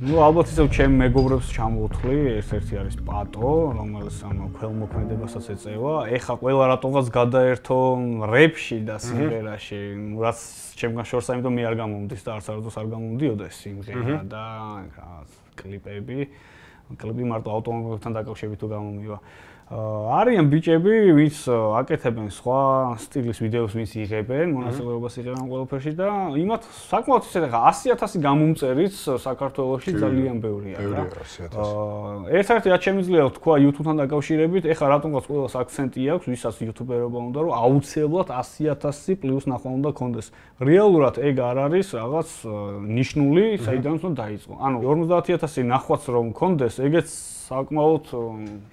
ნუ ალბათ ისევ ჩემ მეგობრებს ჩამოვთვლი, ერთ-ერთი არის პატო, რომელიც ქველმოქმედებასაც ეწევა. ეხა ყველა რატომღაც გადაერთო რეპში და სიმღერაში, რაც ჩემგან შორს, ამიტომ მე არ გამომდის და არც არასდროს არ გამომდიოდა ეს სიმღერა და კლიპები. კლიპი მარტო ავტომობილებთან დაკავშირებით თუ გამომივა. არიან ბიჭები, ვინც აკეთებენ სხვა სტილის ვიდეოს, ვინც იღებენ, მონაწილეობას იღებენ ყველაფერში და იმათ საკმაოდ ისე ხა 100,000 გამომწერიც საქართველოში ძალიან ბევრია რა. ერთ-ერთი რაც შემიძლია ვთქვა YouTube-თან დაკავშირებით, ეხლა რატომღაც ყველას აქცენტი აქვს, ვისაც YouTuber-ობა უნდა, რომ აუცილებლად 100,000 პლუს ნახვა უნდა კონდეს. რეალურად ეგ არ არის რაღაც ნიშნული, საიდანაც უნდა დაიწყო. ანუ 50,000 ნახვაც რომ კონდეს, ეგეც საკმაოდ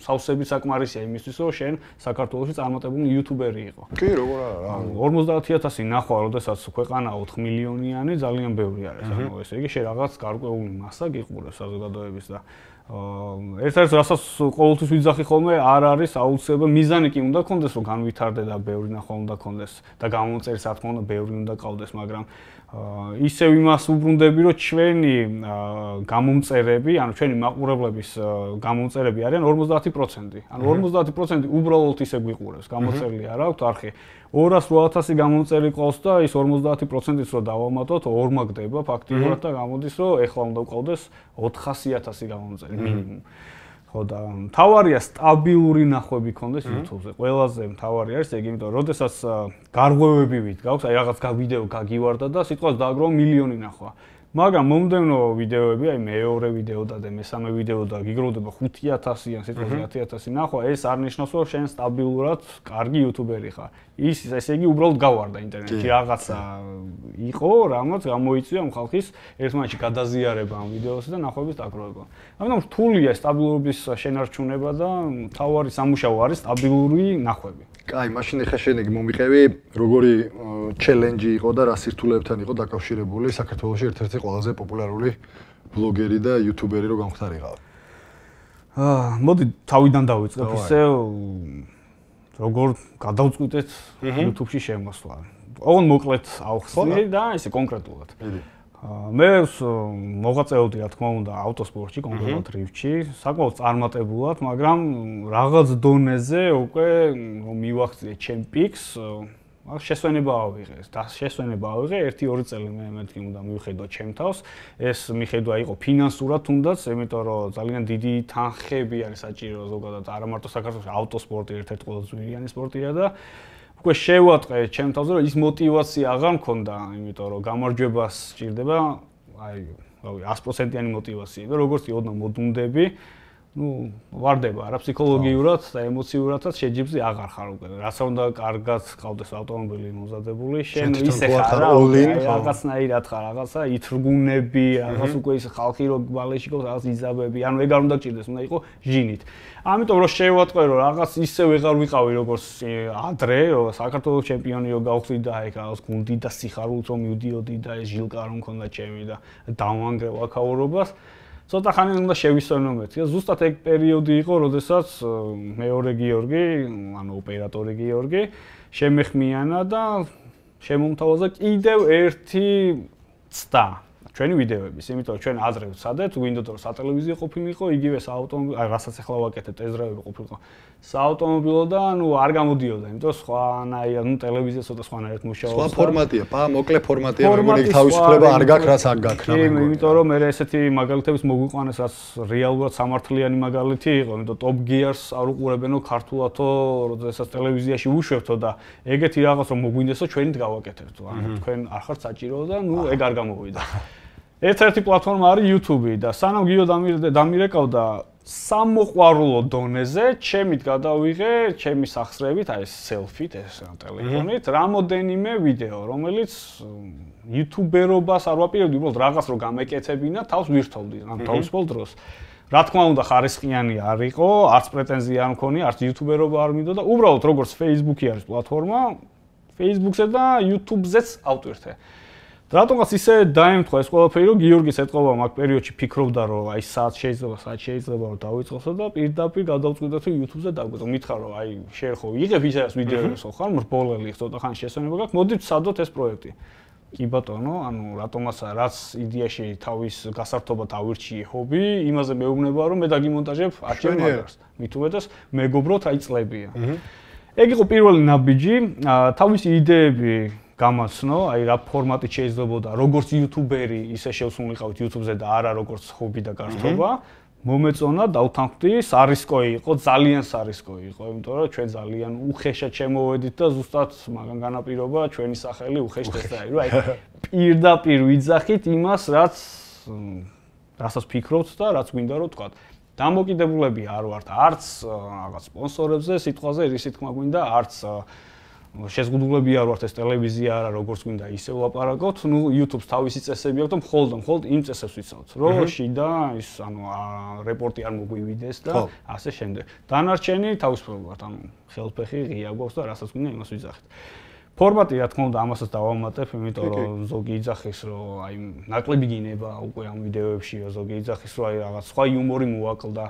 სავსები საკმარისია იმისთვის, რომ შენ საქართველოში წარმატებული YouTuber-ი იყო. კი, როგორ არა. 50,000 ნახვა, როდესაც ქვეყანა 4 მილიონიანი, ძალიან ბევრი არის. ანუ ესე იგი, შენ რაღაც გარკვეული მასა გიყურებს საზოგადოების და ერთ-ერთ რასაც ყოველთვის ვიძახი ხოლმე, არ არის აუცილებელი მიზანი კი უნდა კონდეს, რომ განვითარდე და ბევრი ნახვა უნდა კონდეს და გამომწერის რა თქმა უნდა ბევრი უნდა ყავდეს, მაგრამ ისევ იმას უბრუნდები, რომ ჩვენი გამომწერები, ანუ ჩვენი მაყურებლების გამომწერები არიან 50%. ანუ 50% უბრალოდ ისე გვიყურებს, გამოწერილი არ აქვს არხი. 208,000 გამომწერი ყავს და ის 50%-იც რო დავამატოთ, ორმა გდება ფაქტიურად და გამოდის, რომ ეხლა უნდა ყავდეს 400,000 გამომწერი მინიმუმ. ხო და მთავარია სტაბილური ნახვები კონდეს YouTube-ზე. ყველაზე მთავარი არის ეგ, იმიტომ რომ როდესაც გარღვევები ვიდგავს, აი რაღაც ვიდეო გაგივარდა და სიტყვას დააგროვა მილიონი ნახვა. მაგრამ მომდევნო ვიდეოები, აი მეორე ვიდეო და მესამე ვიდეო და გიგროვდება 5,000-იან, სიტყვაზე 10,000 ნახვა, ეს არ ნიშნავს, რომ შენ სტაბილურად კარგი YouTuber-ი ხარ. ის ესე იგი უბრალოდ გავარდა ინტერნეტში რაღაცა იყო, რამაც გამოიწვია ამ ხალხის ერთმანეთში გადაზიარება ამ ვიდეოსა და ნახვების დაგროვება. ამიტომ რთულია სტაბილურობის შენარჩუნება და მთავარი სამუშაო არის სტაბილური ნახვები. კაი, მაშინ ახლა შენ ეგ მომიყევი, როგორი ჩელენჯი იყო და რა სირთულეებთან იყო დაკავშირებული საქართველოში ერთ-ერთი ყველაზე პოპულარული ბლოგერი და YouTuber-ი რო გამختارიყავ. მოდი თავიდან დავიწყებ ისე როგორ გადავწყვიტეთ YouTube-ში შემოსვლა. ოღონ მოკლედ ავხსნი და ისე კონკრეტულად. მე მოღვაწეობდი რა თქმა უნდა ავტოსპორტში, კონკრეტულად რიფტში, საკმაოდ წარმატებულად, მაგრამ რაღაც დონეზე უკვე მივახციე ჩემ პიკს, შესვენება ავიღე. და შესვენება ავიღე 1-2 წელი მე მეთქი უნდა მივხედო ჩემ თავს. ეს მიხედვა იყო ფინანსურად თუნდაც, იმიტომ რომ ძალიან დიდი თანხები არის საჭირო ზოგადად, არა მარტო საქართველოში ავტოსპორტი ერთ-ერთი ყველაზე ძვირიანი სპორტია და უკვე შევატყე ჩემ თავზე, რომ ის мотиваცია აღარ მქონდა, იმიტომ რომ გამარჯვებას სჭირდება, აი, რავი, 100%-იანი мотиваცია და როგორც კი ოდნავ მოდუნდები, ну, ვარდება რა ფსიქოლოგიურად და ემოციურადაც შეჯიბზე აღარ ხარ უკვე. რაც უნდა კარგად ყავდეს ავტომობილი მომზადებული, შენ ისე ხარ, რაღაცნაირად ხარ, რაღაცა ითრგუნები, რაღაც უკვე ის ხალხი რო ბალეში ყავს, რაღაც იზაბები, ანუ ეგ არ უნდა გჭირდეს, უნდა იყო ჟინით. ამიტომ რომ შევატყვე რომ რაღაც ისე ვეღარ ვიყავი როგორც ადრე, რომ საქართველოს ჩემპიონი რო გავხდი და ეგ რაღაც გუნდი და სიხარულით რომ მივდიოდი და ეს ჟილკა რომ მქონდა ჩემი და დავანგრევ აქაურობას. ცოტა ხანი უნდა შევისწორნო მეთქი. ზუსტად ეგ პერიოდი იყო, როდესაც მეორე გიორგი, ანუ ოპერატორი გიორგი, შემეხმიანა და შემომთავაზა კიდევ ერთი ცდა ჩვენი ვიდეოების, იმიტომ რომ ჩვენ აზრე ვცადეთ, გვინდოდა რომ სატელევიზიო ყოფილიყო, იგივე საავტომობილო, აი რასაც ახლა ვაკეთებ, ეზრაები ყოფილიყო. საავტომობილო და ნუ არ გამოდიოდა, იმიტომ სხვანაირად, ნუ ტელევიზია ცოტა სხვანაირად მუშაობს. სხვა ფორმატია, მოკლე ფორმატია, როგორი თავისუფლება არ გაქვს, რაც არ გაქვს. კი, იმიტომ რომ მე ესეთი მაგალითების მოგვიყვანეს, რაც რეალურად სამართლიანი მაგალითი იყო, იმიტომ Top Gear-ს არ უყურებენო ქართულათო, როდესაც ტელევიზიაში უშვებთო და ეგეთი რაღაც რომ მოგვინდესო ჩვენით გავაკეთებთო. ანუ თქვენ არ ხართ საჭირო და ნუ ეგ არ გამოვიდა. ერთ-ერთი პლატფორმა არის YouTube და სანამ გიო დამირეკავდა სამოყვარულო დონეზე, ჩემით გადავიღე, ჩემი სახსრებით, აი სელფით, ეს ტელეფონით, რამოდენიმე ვიდეო, რომელიც YouTuber-ობას არ ვაპირებდი, უბრალოდ რაღაც რო გამეკეთებინა, თავს ვირთოვდი, ან თავისუფალ დროს. რა თქმა უნდა, ხარისხიანი არ იყო, არც პრეტენზია არ მქონია, არც YouTuber-ობა არ მინდოდა, უბრალოდ როგორც Facebook-ი არის პლატფორმა, Facebook-ზე და YouTube-ზეც ავტვირთე. რატომღაც ისე დაემთხვა ეს ყველაფერი, რომ გიორგის ეთყობა მაგ პერიოდში ფიქრობდა, რომ აი საათ შეიძლება რომ დავიწყოსო და პირდაპირ გადავწყვიტე თუ YouTube-ზე დავგვეწო. მითხრა რომ აი შენ ხო იღებ ისე ვიდეოებს ხო ხარ, მრბოლელი ცოტა ხანი შესვენება გაქვს, მოდი ვცადოთ ეს პროექტი. კი ბატონო, ანუ რატომაც რაც იდეაში თავის გასართობად ავირჩიე ჰობი, იმაზე მეუბნება რომ მე დაგიმონტაჟებ არჩევ მაგარს. მით უმეტეს მეგობროთ აი წლებია. ეგ იყო პირველი ნაბიჯი, თავისი იდეები გამაცნო, აი რა ფორმატით შეიძლებოდა, როგორც იუთუბერი, ისე შევსულიყავით YouTube-ზე და არა როგორც ჰობი და გართობა. მომეწონა, დავთანხმდი, სარისკო იყო, ძალიან სარისკო იყო, იმიტომ რომ ჩვენ ძალიან უხეშად შემოვედით და ზუსტად მაგან განაპირობა ჩვენი სახელი უხეშად დაი, რომ აი პირდაპირ ვიძახით იმას, რასაც ფიქრობთ და რაც გვინდა რომ თქვათ. დამოკიდებულები არ ვართ არც რაღაც სპონსორებზე, სიტყვაზე ისი თქმა გვინდა, არც შეზღუდულები არ ვართ ეს ტელევიზია არა როგორც გვინდა ისე ვლაპარაკოთ, ნუ YouTube-ს თავისი წესები აქვს და მხოლოდ იმ წესებს ვიცავთ, რომ შიდა ის ანუ რეპორტი არ მოგვივიდეს და ასე შემდეგ. დანარჩენი თავისუფლად, ანუ ხელფეხი ღია გვაქვს და რასაც გვინდა იმას ვიძახით. ფორმატი რა თქმა უნდა ამასაც დავამატებ, იმიტომ რომ ზოგი იძახის, რომ აი ნაკლები გინება უკვე ამ ვიდეოებში, ზოგი იძახის, რომ აი რაღაც სხვა იუმორი მოვაკლდა.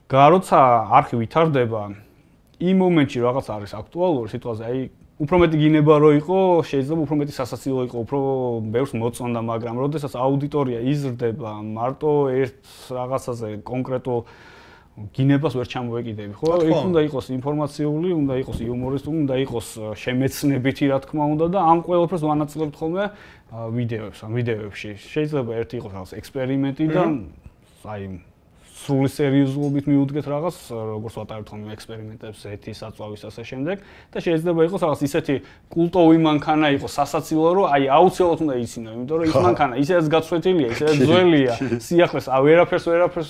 როცა არხი ვითარდება იმ მომენტში რაღაც არის აქტუალური სიტყვაზე, აი უფრო მეტი გინება რო იყო, შეიძლება უფრო მეტი სასაცილო იყო, უფრო ბევრს მოწონდა, მაგრამ როდესაც აუდიტორია იზრდება, მარტო ერთ რაღაცაზე კონკრეტულ გინებას ვერ ჩამოვეკიდები, ხო? იქ უნდა იყოს ინფორმაციული, უნდა იყოს იუმორისტული, უნდა იყოს შემეცნებითი, რა თქმა უნდა და ამ ყველაფერს ვანაწილებთ ხოლმე ვიდეოებში. შეიძლება ერთი იყოს რაღაც ექსპერიმენტი და აი სრული სერიოზულობით მიუდგეთ რაღაც, როგორც ვატარებთ ხოლმე ექსპერიმენტებს, ეთი საწვავის ასე შემდეგ და შეიძლება იყოს რაღაც ისეთი კულტოვი მანქანა იყოს სასაცილო, რომ აი აუცილებლად უნდა იცინო, იმიტომ რომ ის მანქანა ისედაც გაცვეთილია, ისედაც ძველია, სიახლეს ვერაფერს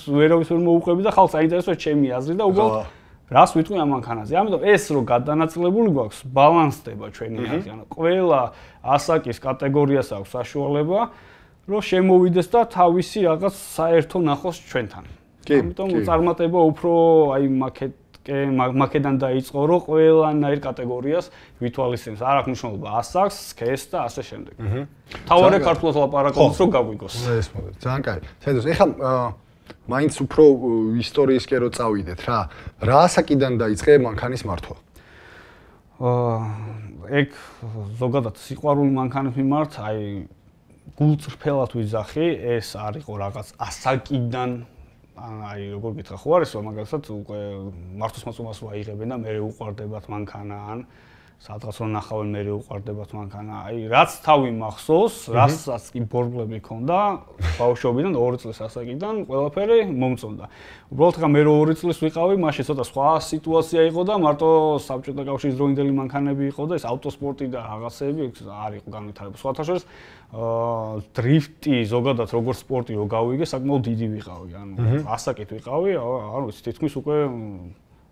ვერავის ვერ მოუყვები და ხალხს აინტერესებს ჩემი აზრი და უბრალოდ რას ვიტყვი ამ მანქანაზე. ამიტომ ეს რო გადანაწილებული გვაქვს, ბალანსდება ჩვენი აზრი, ანუ ყველა ასაკის კატეგორიას აქვს საშუალება, რომ შემოვიდეს და თავისი რაღაც საერთო ნახოს ჩვენთან. ამიტომ წარმატება უფრო აი მაკედან დაიწყო, რომ ყველანაირ კატეგორიას ვითვალისწინებს. არ აქვს მნიშვნელობა ასაკს, სქესს და ასე შემდეგ. თავარი ქართულად ლაპარაკობს, რომ გაგვიგოს. ეს მოდით. ძალიან კაი. საერთოდ ეხლა მაინც უფრო ისტორიისკენ რო წავიდეთ რა. რა ასაკიდან დაიწყე მანქანის მართვა? ეგ ზოგადად სიყვარული მანქანების მიმართ, აი გულწრფელად ვიძახი, ეს არ იყო რაღაც ასაკიდან აი როგორ გითხრა ხო არის რომ მაგალითად უკვე მართოს მოწმობას ვაიღებენ და მე უყვარდებათ მანქანა ან სადღაც რომ ნახავენ მე უყვარდებათ მანქანა აი რაც თავი მახსოვს რასაც კი ბორბლები ქონდა ბავშვობიდან 2 წლის ასაკიდან ყველაფერი მომწონდა უბრალოდ ხა მე 2 წლის ვიყავი მაშინ ცოტა სხვა სიტუაცია იყო და მარტო საბჭოთა კავშირის დროინდელი მანქანები იყო და ეს ავტოსპორტი და რაღაცეები არ იყო განვითარებული სხვათა შორის დრიფტი ზოგადად როგორც სპორტი რო გავიგე საკმაოდ დიდი ვიყავი ანუ ასაკით ვიყავი არ ვიცი თითქმის უკვე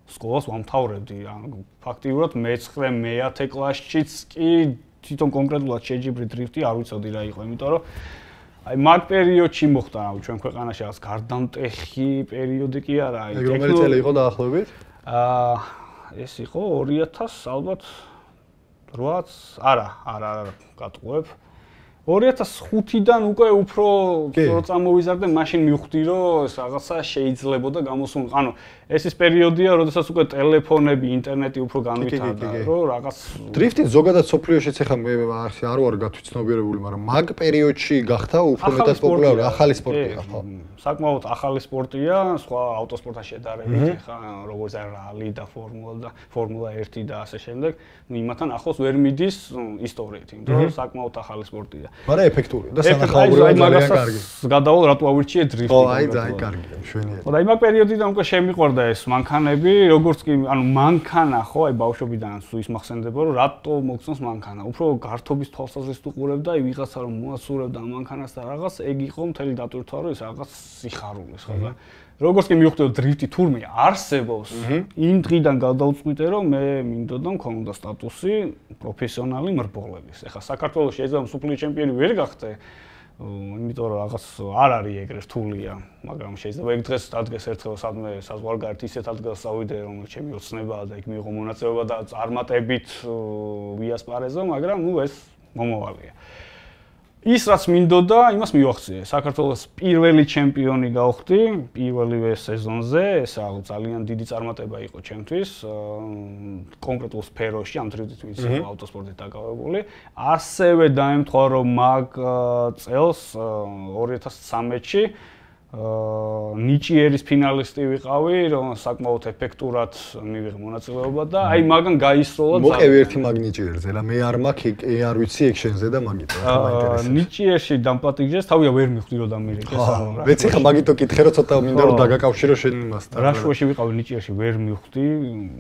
სკოლას ვამთავრებდი ანუ ფაქტიურად მე-9 კლასშიც კი თვითონ კონკრეტულად შეჯიბრი დრიფტი არ ვიცოდი რა იყო იმიტომ რომ აი მაგ პერიოდში მოხდა ჩვენ ქვეყანაში რაღაც გარდამტეხი პერიოდი კი არა აი რომელი წელი იყო დაახლოებით ეს იყო 2000 ალბათ 8 არა გატყუებ 2005-დან უკვე უფრო რო წამოვიზარდე, მაშინ მივხვდი, რომ ეს რაღაცა შეიძლებოდა გამოსულ. ანუ ეს ის პერიოდია, როდესაც უკვე ტელეფონები, ინტერნეტი უფრო განვითარდა, რომ რაღაც დრიფტი ზოგადად სოფლიოშიც ახლა მე არ ვარ გათვითცნობიერებული, მაგრამ მაგ პერიოდში გახდა უფრო მეტად პოპულარული ახალი სპორტია, ხო? საკმაოდ ახალი სპორტია, სხვა ავტოსპორტთან შედარებით, ხა როგორც რალი და ფორმულა 1 და ასე შემდეგ, ნუ იმათთან ახლოს ვერ მიდის ისტორიით, იმიტომ რომ საკმაოდ ახალი სპორტია. მაგრამ ეფექტურია და სანახაობრივად ძალიან კარგი. გადავალ რატო ავირჩიე დრიფტი. ხო, აი ძალიან კარგია, მშვენიერი. ხო და იმ პერიოდიდან უკვე შემიყვარდა ეს მანქანები, როგორც კი, ანუ მანქანა ხო, აი ბავშვობიდან ის მახსენდება, რომ რატო მოგწონს მანქანა. უფრო გართობის თვალსაზრისით უყურებდა, აი ვიღაცა რომ მოასურებდა მანქანას და რაღაც, ეგ იყო მთელი დატვირთვა, რომ ეს რაღაც სიხარულის ხო და როგორც კი მივხვდი რომ დრიფტი თურმე არსებობს, იმ დღიდან გადავწყვიტე რომ მე მინდოდა მქონდა სტატუსი პროფესიონალი მრბოლების. ეხლა საქართველოს შეიძლება მსოფლიო ჩემპიონი ვერ გახდე, იმიტომ რომ რაღაც არ არის ეგრე რთულია, მაგრამ შეიძლება ეგ დღეს დადგეს ერთხელ სადმე საზღვარგარეთ ისეთ ადგილას წავიდე, რომელიც ჩემი ოცნებაა და იქ მიიღო მონაწილეობა და წარმატებით ვიასპარეზო, მაგრამ ნუ ეს მომავალია. ის რაც მინდოდა, იმას მივახციე. საქართველოს პირველი ჩემპიონი გავხდი, პირველივე სეზონზე, ეს ძალიან დიდი წარმატება იყო ჩემთვის. კონკრეტულ სფეროში, ამ თრითით ვინც ავტოსპორტით დაკავებული. ასევე დაემთხვა, რომ მაგ წელს 2013-ში ნიჭიერის ფინალისტი ვიყავი, რომ საკმაოდ ეფექტურად მივიღე მონაწილეობა და აი მაგან გაისროლა ძალიან. მოყევი ერთი მაგ ნიჭიერზე, რა მე არ მაქვს, არ ვიცი ეგ შენზე და მაგით რა მაინტერესებს. ნიჭიერში დამპატიჟეს, თავია ვერ მივხვდი რომ დამირეკეს ანუ რა. მეც ხა მაგითო კითხე რომ ცოტა მინდა რომ დაგაკავშირო შენ იმასთან. რა შუაში ვიყავი ნიჭიერში ვერ მივხვდი,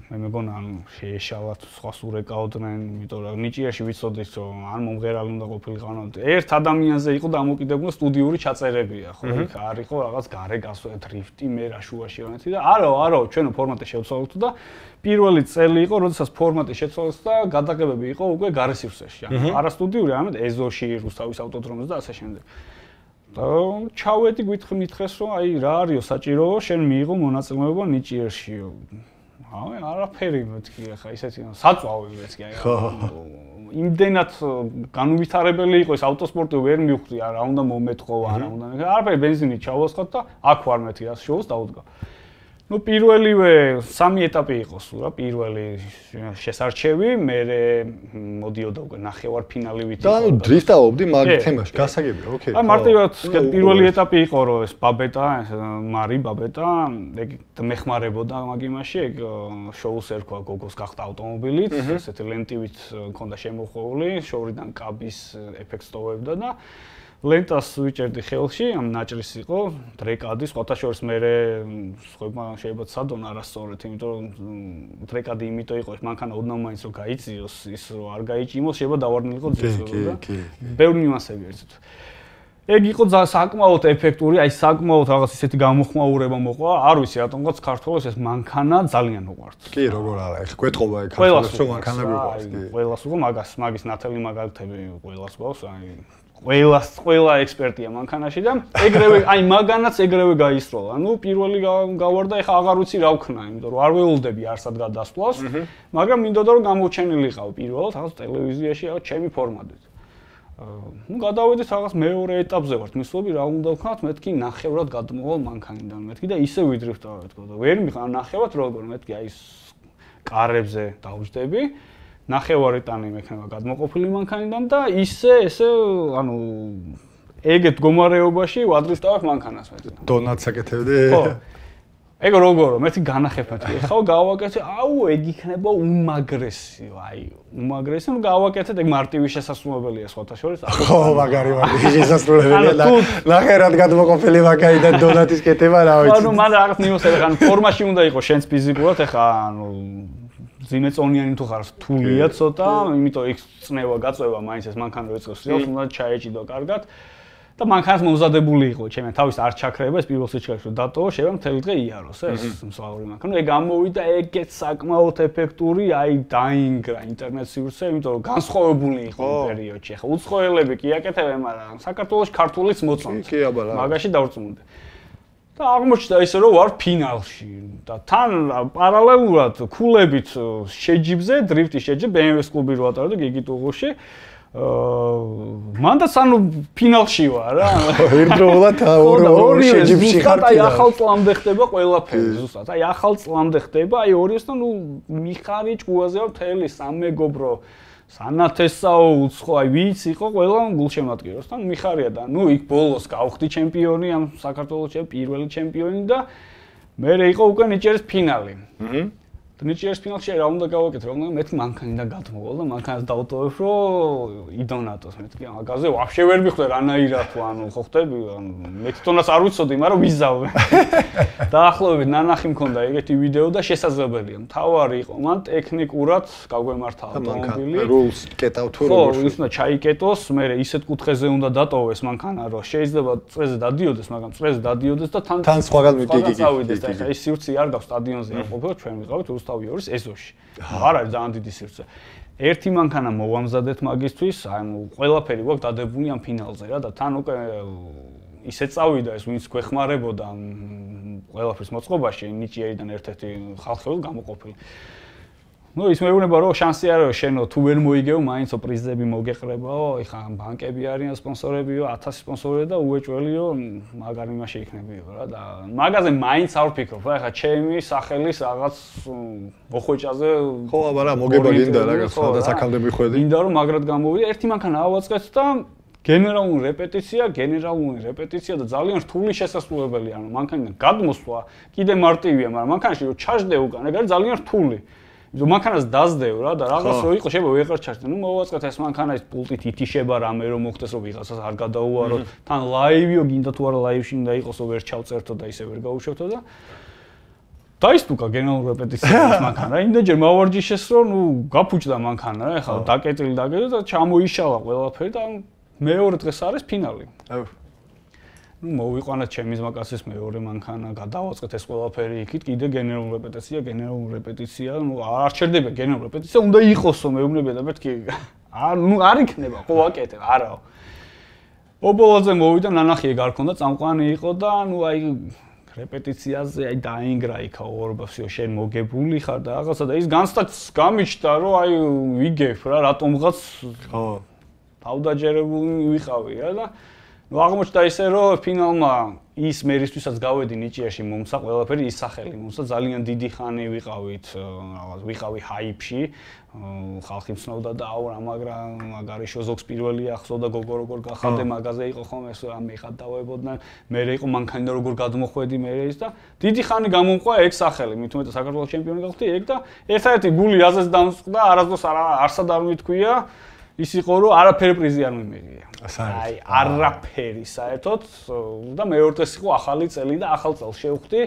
მე მეგონა ანუ შეეშალათ სხვა სურეკავდნენ, იმიტომ რომ ნიჭიერში ვიცოდით რომ ან მომღერალი უნდა ყოფილიყო, ერთ ადამიანზე იყო დამოკიდებული სტუდიური ჩაწერებია, ხო, იქ არ იყო რაღაც გარე გასვლა დრიფტი მე რა შუაში ვანეთი და არა ჩვენო ფორმატი შევცვალოთ და პირველი წელი იყო როდესაც ფორმატი შეცვალეს და გადაღებები იყო უკვე გარე სივრცეში ანუ არასტუდიური ამეთ ეზოში რუსთავის ავტოდრომზე და ასე შემდეგ და ჩავედი მითხეს რომ აი რა არისო საჭირო შენ მიიღო მონაწილეობა ნიჭიერში არაფერი მეთქი ახლა ისეთი საწვავი მეთქი აი იმდენად განუვითარებელი იყო ეს ავტოსპორტი ვერ მივხვდი რა უნდა მომეთხო არა უნდა არაფერი ბენზინით ჩავასხოთ და აქ ვარ მეთქი რა შოუს დაუდგა ну პირველივე 3 ეტაპი იყო სულ რა პირველი შესარჩევი მე მოდიოდა უკვე ნახევარფინალივით და ანუ დრიფტაობდი მაგ თემაში გასაგებია ოკეი აი მარტივად პირველი ეტაპი იყო რომ ეს ბაბეტა მარი ბაბეტა ეგ მეხმარებოდა მაგ იმაში ეგ შოუს ერქვა გოგოს გახდა ავტომობილით ესეთი ლენტივით მქონდა შემოხვეული შორიდან კაბის ეფექტს ტოვებდა და ლენტას ვიჭერდი ხელში, ამ ნაჭრის იყო, დრეკადი, სხვათა შორის მე სხვაებმა შეიძლება ცადონ არასწორად, იმიტომ რომ დრეკადი იმიტომ იყო, მანქანა ოდნავ მაინც რომ გაიწიოს, ის რომ არ გაიჭიმოს, შეიძლება დავარდნილიყო ძილზე და ბევრი ნიუანსები ერთად. ეგ იყო საკმაოდ ეფექტური, აი საკმაოდ რაღაც ისეთი გამოხმაურება მოყვა, არ ვიცი რატომღაც ქართველებს ეს მანქანა ძალიან უყვართ. კი, როგორ არა, ეხ გვეტყობა ეგ ქართველებს რომ მანქანა გვიყვარს, კი. ყველას უკვე მაგის ნათელი მაგალითები ყველას გვაქვს, აი ყველა ექსპერტია მანქანაში და ეგრევე აი მაგანაც ეგრევე გაისროლა. ანუ პირველი გავარდა, ეხა აღარ ვიცი რა ვქნა, იმიტომ რომ არ ველოდები არსად გადასვლას, მაგრამ მინდოდა რომ გამოჩენილიყავ პირველად რაღაც ტელევიზიაში რაღაც ჩემი ფორმატით. ну გადავედით რაღაც მეორე ეტაპზე ვართ მისვლები რა უნდა ვქნათ მეთქი ნახევრად გადმოვალ მანქანიდან მეთქი და ისე ვიდრიფტავ თქო და ვერ მიხარ ნახევრად როგორ მეთქი აი ეს კარებზე დავждები ნახევარი ტანი მექნება გადმოყოფილი მანქანიდან და ესე ანუ ეგეთ მდგომარეობაში ვადრიფტავებ მანქანას მეთქი დონატს აკეთებდი ხო ეგ როგორ მეთქი განახებათ ეხლა გავაკეთე აუ ეგ იქნება უმაგრესი აი უმაგრესი ნუ გავაკეთეთ ეგ მარტივი შესაძლებლობელია სხვათა შორის ხო მაგარი მარტივი შესაძლებელია და ნახევრად გადმოყოფილი მანქანიდან დონატის კეთება რა ვიცი ანუ მან რაღაც ნიუსები ხან ფორმაში უნდა იყოს შენს ფიზიკურად ეხლა ანუ ზიმეწონიანი თუ ხარ რთულია ცოტა იმიტომ იქ წნევა გაწევა მაინც ეს მანქანა რო ეწყებს რეალს უნდა ჩაეჭიდო კარგად და მანქანას მომზადებული იყო ჩემი თავის არ ჩაქრება ეს პირველ სიჩქარეში დატოვა შეიძლება მთელი დღე იაროს ეს მსვლავური მანქანა ეგ გამოვიდა ეგეც საკმაოდ ეფექტური აი დაინგრა ინტერნეტ სივრცე იმიტომ რომ განსხვავებული იყო პერიოდში ახლა უცხოელები კი აკეთებენ მაგრამ საქართველოს ქართულიც მოწონთ კი აბა მაგაში დავწმუნდი და აღმოჩნდა ისე რომ ვარ ფინალში და თან პარალელურად ქულებით შეჯიბზე დრიფტის შეჯიბ BMW-ს კლუბი რო ატარებდა გიგიტუღოში მანდაც ანუ ფინალში ვარ რა ერთდროულად ორი შეჯიბში ხარ აი ახალ წლამდე ხდება ყველაფერი ზუსტად აი ახალ წლამდე ხდება აი ორიოსთან ნუ მიხარი ჭუაზე ვარ მთელი სამეგობრო სანათესაო უცხო აი ვიც იყო ყველა გულშემატკივროს თან მიხარია და ნუ იქ ბოლოს გავხდი ჩემპიონი ამ საქართველოს პირველი ჩემპიონი და მე იყო უკვე ნიჭიერის ფინალი ნიჭიერის ფინალში რა უნდა გავაკეთო რა უნდა მეთქი მანქანიდან გადმოვალ და მანქანას დავტოვებ რომ იდონატოს მეთქი მაგაზე ვაფშე ვერ მიხვდე რანაირად თუ ანუ ხო ხტები ანუ მე თვითონაც არ ვიცოდი მაგრამ ვიზავე დაახლოებით ნანახი მქონდა ეგეთი ვიდეო და შესაძლებელია მთავარი იყო მან ტექნიკურად გაგვემართა ავტომობილი რულს კეტავ თუ როგორ ხო ის უნდა ჩაიკეტოს მე ისეთ კუთხეზე უნდა დატოვეს მანქანა რომ შეიძლება წრეზე დადიოდეს მაგრამ წრეზე დადიოდეს და თან სხვაგან მიგიგიგდეს და ეხლა ის სივრცე არ გაქვს სტადიონზე არ ყოფილა ჩვენ ვიყავით რუსთავი ორის ეზოში არ არის ძალიან დიდი სივრცე ერთი მანქანა მოვამზადეთ მაგისთვის აი ყველაფერი გვაქვს დადებული ამ ფინალზე რა და თან უკვე ისე წავიდა ეს ვინც გვეხმარებოდა ყველაფრის მოწყობაში ნიჭიერიდან ერთ-ერთი ხალხი გამოყოფილი ну ის მეუბნება რომ შანსი არა შენო თუ ვერ მოიგეო მაინცო პრიზები მოგეყრებაო ეხა ბანკები არიან სპონსორებიო 1000 სპონსორია და უეჭველიო მაგარი იმაში იქნებიო რა და მაგაზე მაინც არ ვფიქრობ რა ეხა ჩემი სახელის რაღაც მოხვეჭაზე ხო აბა რა მოგება გინდა რაღაც სადაც აქამდე მიხვედი გინდა რომ მაგრად გამოვიდა ერთი მანქანა ავაწყეთ და გენერალური რეპეტიცია და ძალიან რთული შესაძლებელი ანუ მანქანიდან გადმოსვლა კიდე მარტივია მაგრამ მანქანაში რომ ჩაждდე უკან ეგ არის ძალიან რთული იმიტომ მანქანას დაждდეო რა და რაღაც რო იყო შეიძლება ვეღარ ჩაждდე ნუ მოვაწყეთ ეს მანქანა ის პულტით ითიშება რამე რომ მოხდეს რომ ვიღაცას არ გადაუვაროთ თან ლაივიო გინდა თუ არა ლაივში უნდა იყოსო ვერ ჩავწერთო და ისე ვერ გაუშვეთო და დაისტუკა გენერალური რეპეტიციის მანქანა იმდენჯერ მავარჯიშეს რომ ნუ გაფუჭდა მანქანა რა ეხლა დაკეტილი და ჩამოიშალა ყველაფერი და მეორე დღეს არის ფინალი. ნუ მოვიყვანეთ ჩემი ზმაკაცის მეორე მანქანა, გადავაწყეთ ეს ყველაფერი იქით, კიდე გენერალური რეპეტიცია, ნუ არ ჩერდება გენერალური რეპეტიცია, უნდა იყოსო მეუბნებია და მეთქი ნუ არ იქნება, ხო ვაკეთებ, არაო. ობოლოზე მოვიდა ნანახი ეგ არ ქონდა, წამყვანი იყო და ნუ აი რეპეტიციაზე აი დაინგრა იქა ორბასიო შენ მოგებული ხარ და რაღაცა და ის განცდაც გამიჩნდა რომ აი ვიგებ რა რატომღაც ხო თავდაჯერებული ვიყავი რა და ნუ აღმოჩნდა ისე რომ ფინალმა ის მერისთვისაც გავედი ნიჭიერში მომცა ყველაფერი ის სახელი მომცა ძალიან დიდი ხანი ვიყავით რაღაც ვიყავი ჰაიპში ხალხი მცნობდა და აუ რა მაგარიშო ზოგს პირველი ახსოვდა გოგო როგორ გახადე მაგაზე იყო ხომ ეს რა მეღადავებოდნენ მე იყო მანქანა როგორ გადმოხვედი მე ის და დიდი ხანი გამომყვა ეგ სახელი მით უმეტეს საქართველოს ჩემპიონი გახდი ეგ და ერთადერთი გული აზეს დამწყდა არასდროს არსად არ მithქვია ის იყო რომ არაფერი პრიზი არ მიმიღია. აი არაფერი საერთოდ და მეორე დღეს იყო ახალი წელი და ახალ წელს შევხვდი.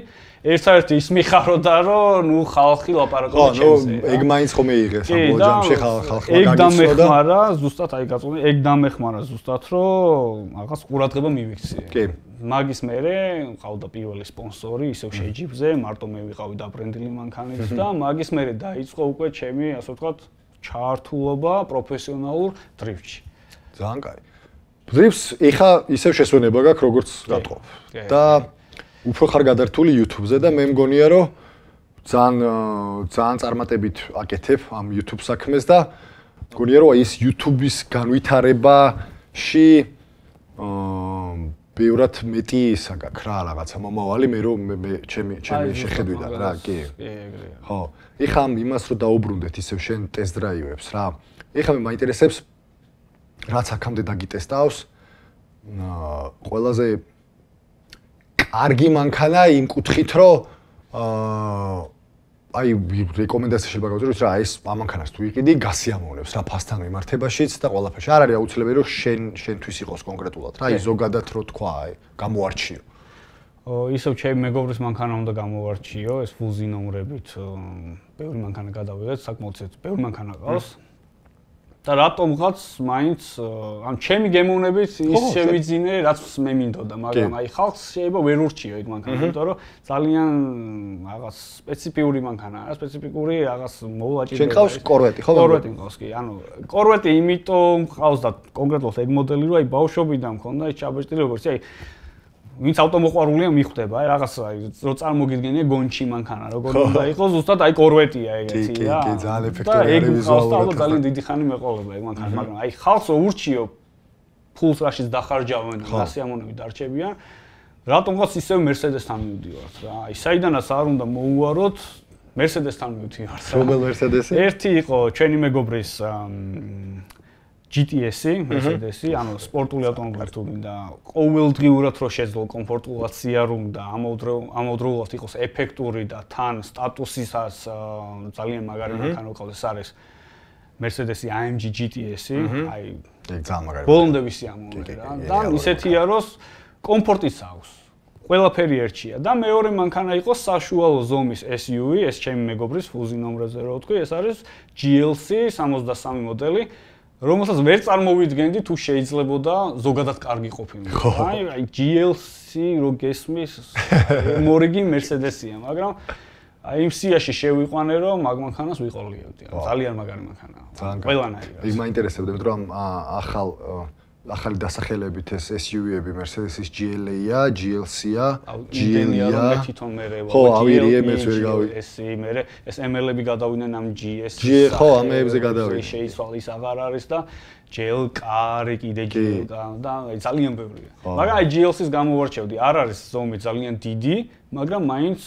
ერთადერთი ის მიხაროდა რომ ნუ ხალხი ლაპარაკობს ჩემზე. ხო, ეგ მაინც ხომ მიიღეს ამ ჯამში ხალხმა ეგ დამეხმარა ზუსტად აი გაწყვეტი ეგ დამეხმარა ზუსტად რომ რაღაც ყურადღება მივიქცია. კი. მაგის მერე ყავდა პირველი სპონსორი ისევ შეჯიბზე მარტო მე ვიყავი დაბრენდილი მანქანით და მაგის მერე დაიწყო უკვე ჩემი ასე ვთქვათ ჩართულობა პროფესიონალურ დრიფტში. ძალიან კაი. დრიფტს ეხა ისევ შესვენება გაქვს როგორც გატყობ. და უფრო ხარ გადართული YouTube-ზე და მე მგონია რომ ძალიან წარმატებით აკეთებ ამ YouTube საქმეს და მგონია რომ ის YouTube-ის განვითარებაში ბევრად მეტი ისა გაქვს რა რაღაცა მომავალი მე რომ მე ჩემი შეხედვიდან რა კი ეგრეა ხო ეხა იმას რომ დაუბრუნდეთ ისევ შენ ტესტ დრაივებს რა ეხა მე მაინტერესებს რაც აქამდე დაგიტესტავს ყველაზე კარგი მანქანა იმ კუთხით რომ აი რეკომენდაცია შეიძლება გავუწიოთ რა ეს ამანქანას თუ იყიდი გასიამოვნებს რა ფასთან მიმართებაშიც და ყველაფერში არ არის აუცილებელი რომ შენთვის იყოს კონკრეტულად რა ის ზოგადად რო თქვა აი გამოარჩიო ისევ ჩემი მეგობრის მანქანა უნდა გამოარჩიო ეს ფულზი ნომრებით ბევრი მანქანა გადავიღეთ საკმაოდ ბევრი მანქანა ყავს და რატომღაც მაინც ამ ჩემი გემოვნებით ის შევიძინე რაც მე მინდოდა მაგრამ აი ხალხს შეიძლება ვერ ურჩიო ეგ მანქანა იმიტომ რომ ძალიან რაღაც სპეციფიური მანქანაა რა სპეციფიკური რაღაც მოვლაჭი შენ ყავს კორვეტი ხო კორვეტი მყავს კი ანუ კორვეტი იმიტომ ყავს და კონკრეტულად ეგ მოდელი რომ აი ბავშვობიდან მქონდა ეს ჩაბეჭდილი როგორც აი ვინც ავტომოყვარულია მიხვდება აი რაღაც აი რო წარმოგიდგენია გონჩი მანქანა როგორ უნდა იყოს ზუსტად აი კორვეტია ეგეთი რა კი ძალიან ეფექტური არის ვიზუალურად ძალიან დიდი ხანი მეყოლება ეგ მანქანა მაგრამ აი ხალხს ურჩიო ფულს რაშიც დახარჯავენ გასიამოვნები დარჩებიან რატომღაც ისევ მერსედესთან მივდივართ რა აი საიდანაც არ უნდა მოუვაროთ მერსედესთან მივდივართ რომელ მერსედესი ერთი იყო ჩვენი მეგობრის GTS-ი, Mercedes-ი, ანუ სპორტული ავტომობილი თუ მინდა ყოველდღიურად რო შეძლო კომფორტულად სიარული და ამავდროულად იყოს ეფექტური და თან სტატუსისაც ძალიან მაგარი მანქანა ყავს არის Mercedes-ი AMG GTS-ი, აი ეგ ძალიან მაგარი. ბოლომდე ვისიამოვნე რა. და ისეთია რომ კომფორტიც აქვს. ყველაფერი ერთია და მეორე მანქანა იყო საშუალო ზომის SUV, ეს ჩემი მეგობრის ფუზი ნომრაზე რო ვთქვი, ეს არის GLC 63 მოდელი. რომელსაც ვერ წარმოვიდგენდი თუ შეიძლებოდა ზოგადად კარგი ყოფილიყო. აი GLC რო გესმის, მორიგი Mercedes-ია, მაგრამ აი იმ სიაში შევიყვანე რომ მაგ მანქანას ვიყოლიებდი. ძალიან მაგარი მანქანაა. ყველანაირად. ის მაინტერესებდა, რომ ახალ ახალი დასახელებით ეს SUV-ები, Mercedes-ის GLA-ია, GLC-ია, GL-ია, მე თვითონ მე ხო, ავირიე მეც ვერ გავი. მე ეს ML-ები გადავიდნენ ამ GS. ხო, ამეებზე გადავიდნენ. შეიცვალ ის აღარ არის და GL-კარი კიდე GL-კა და ძალიან ბევრია. მაგრამ აი GLC-ს გამოვარჩევდი, არ არის ზომით ძალიან დიდი, მაგრამ მაინც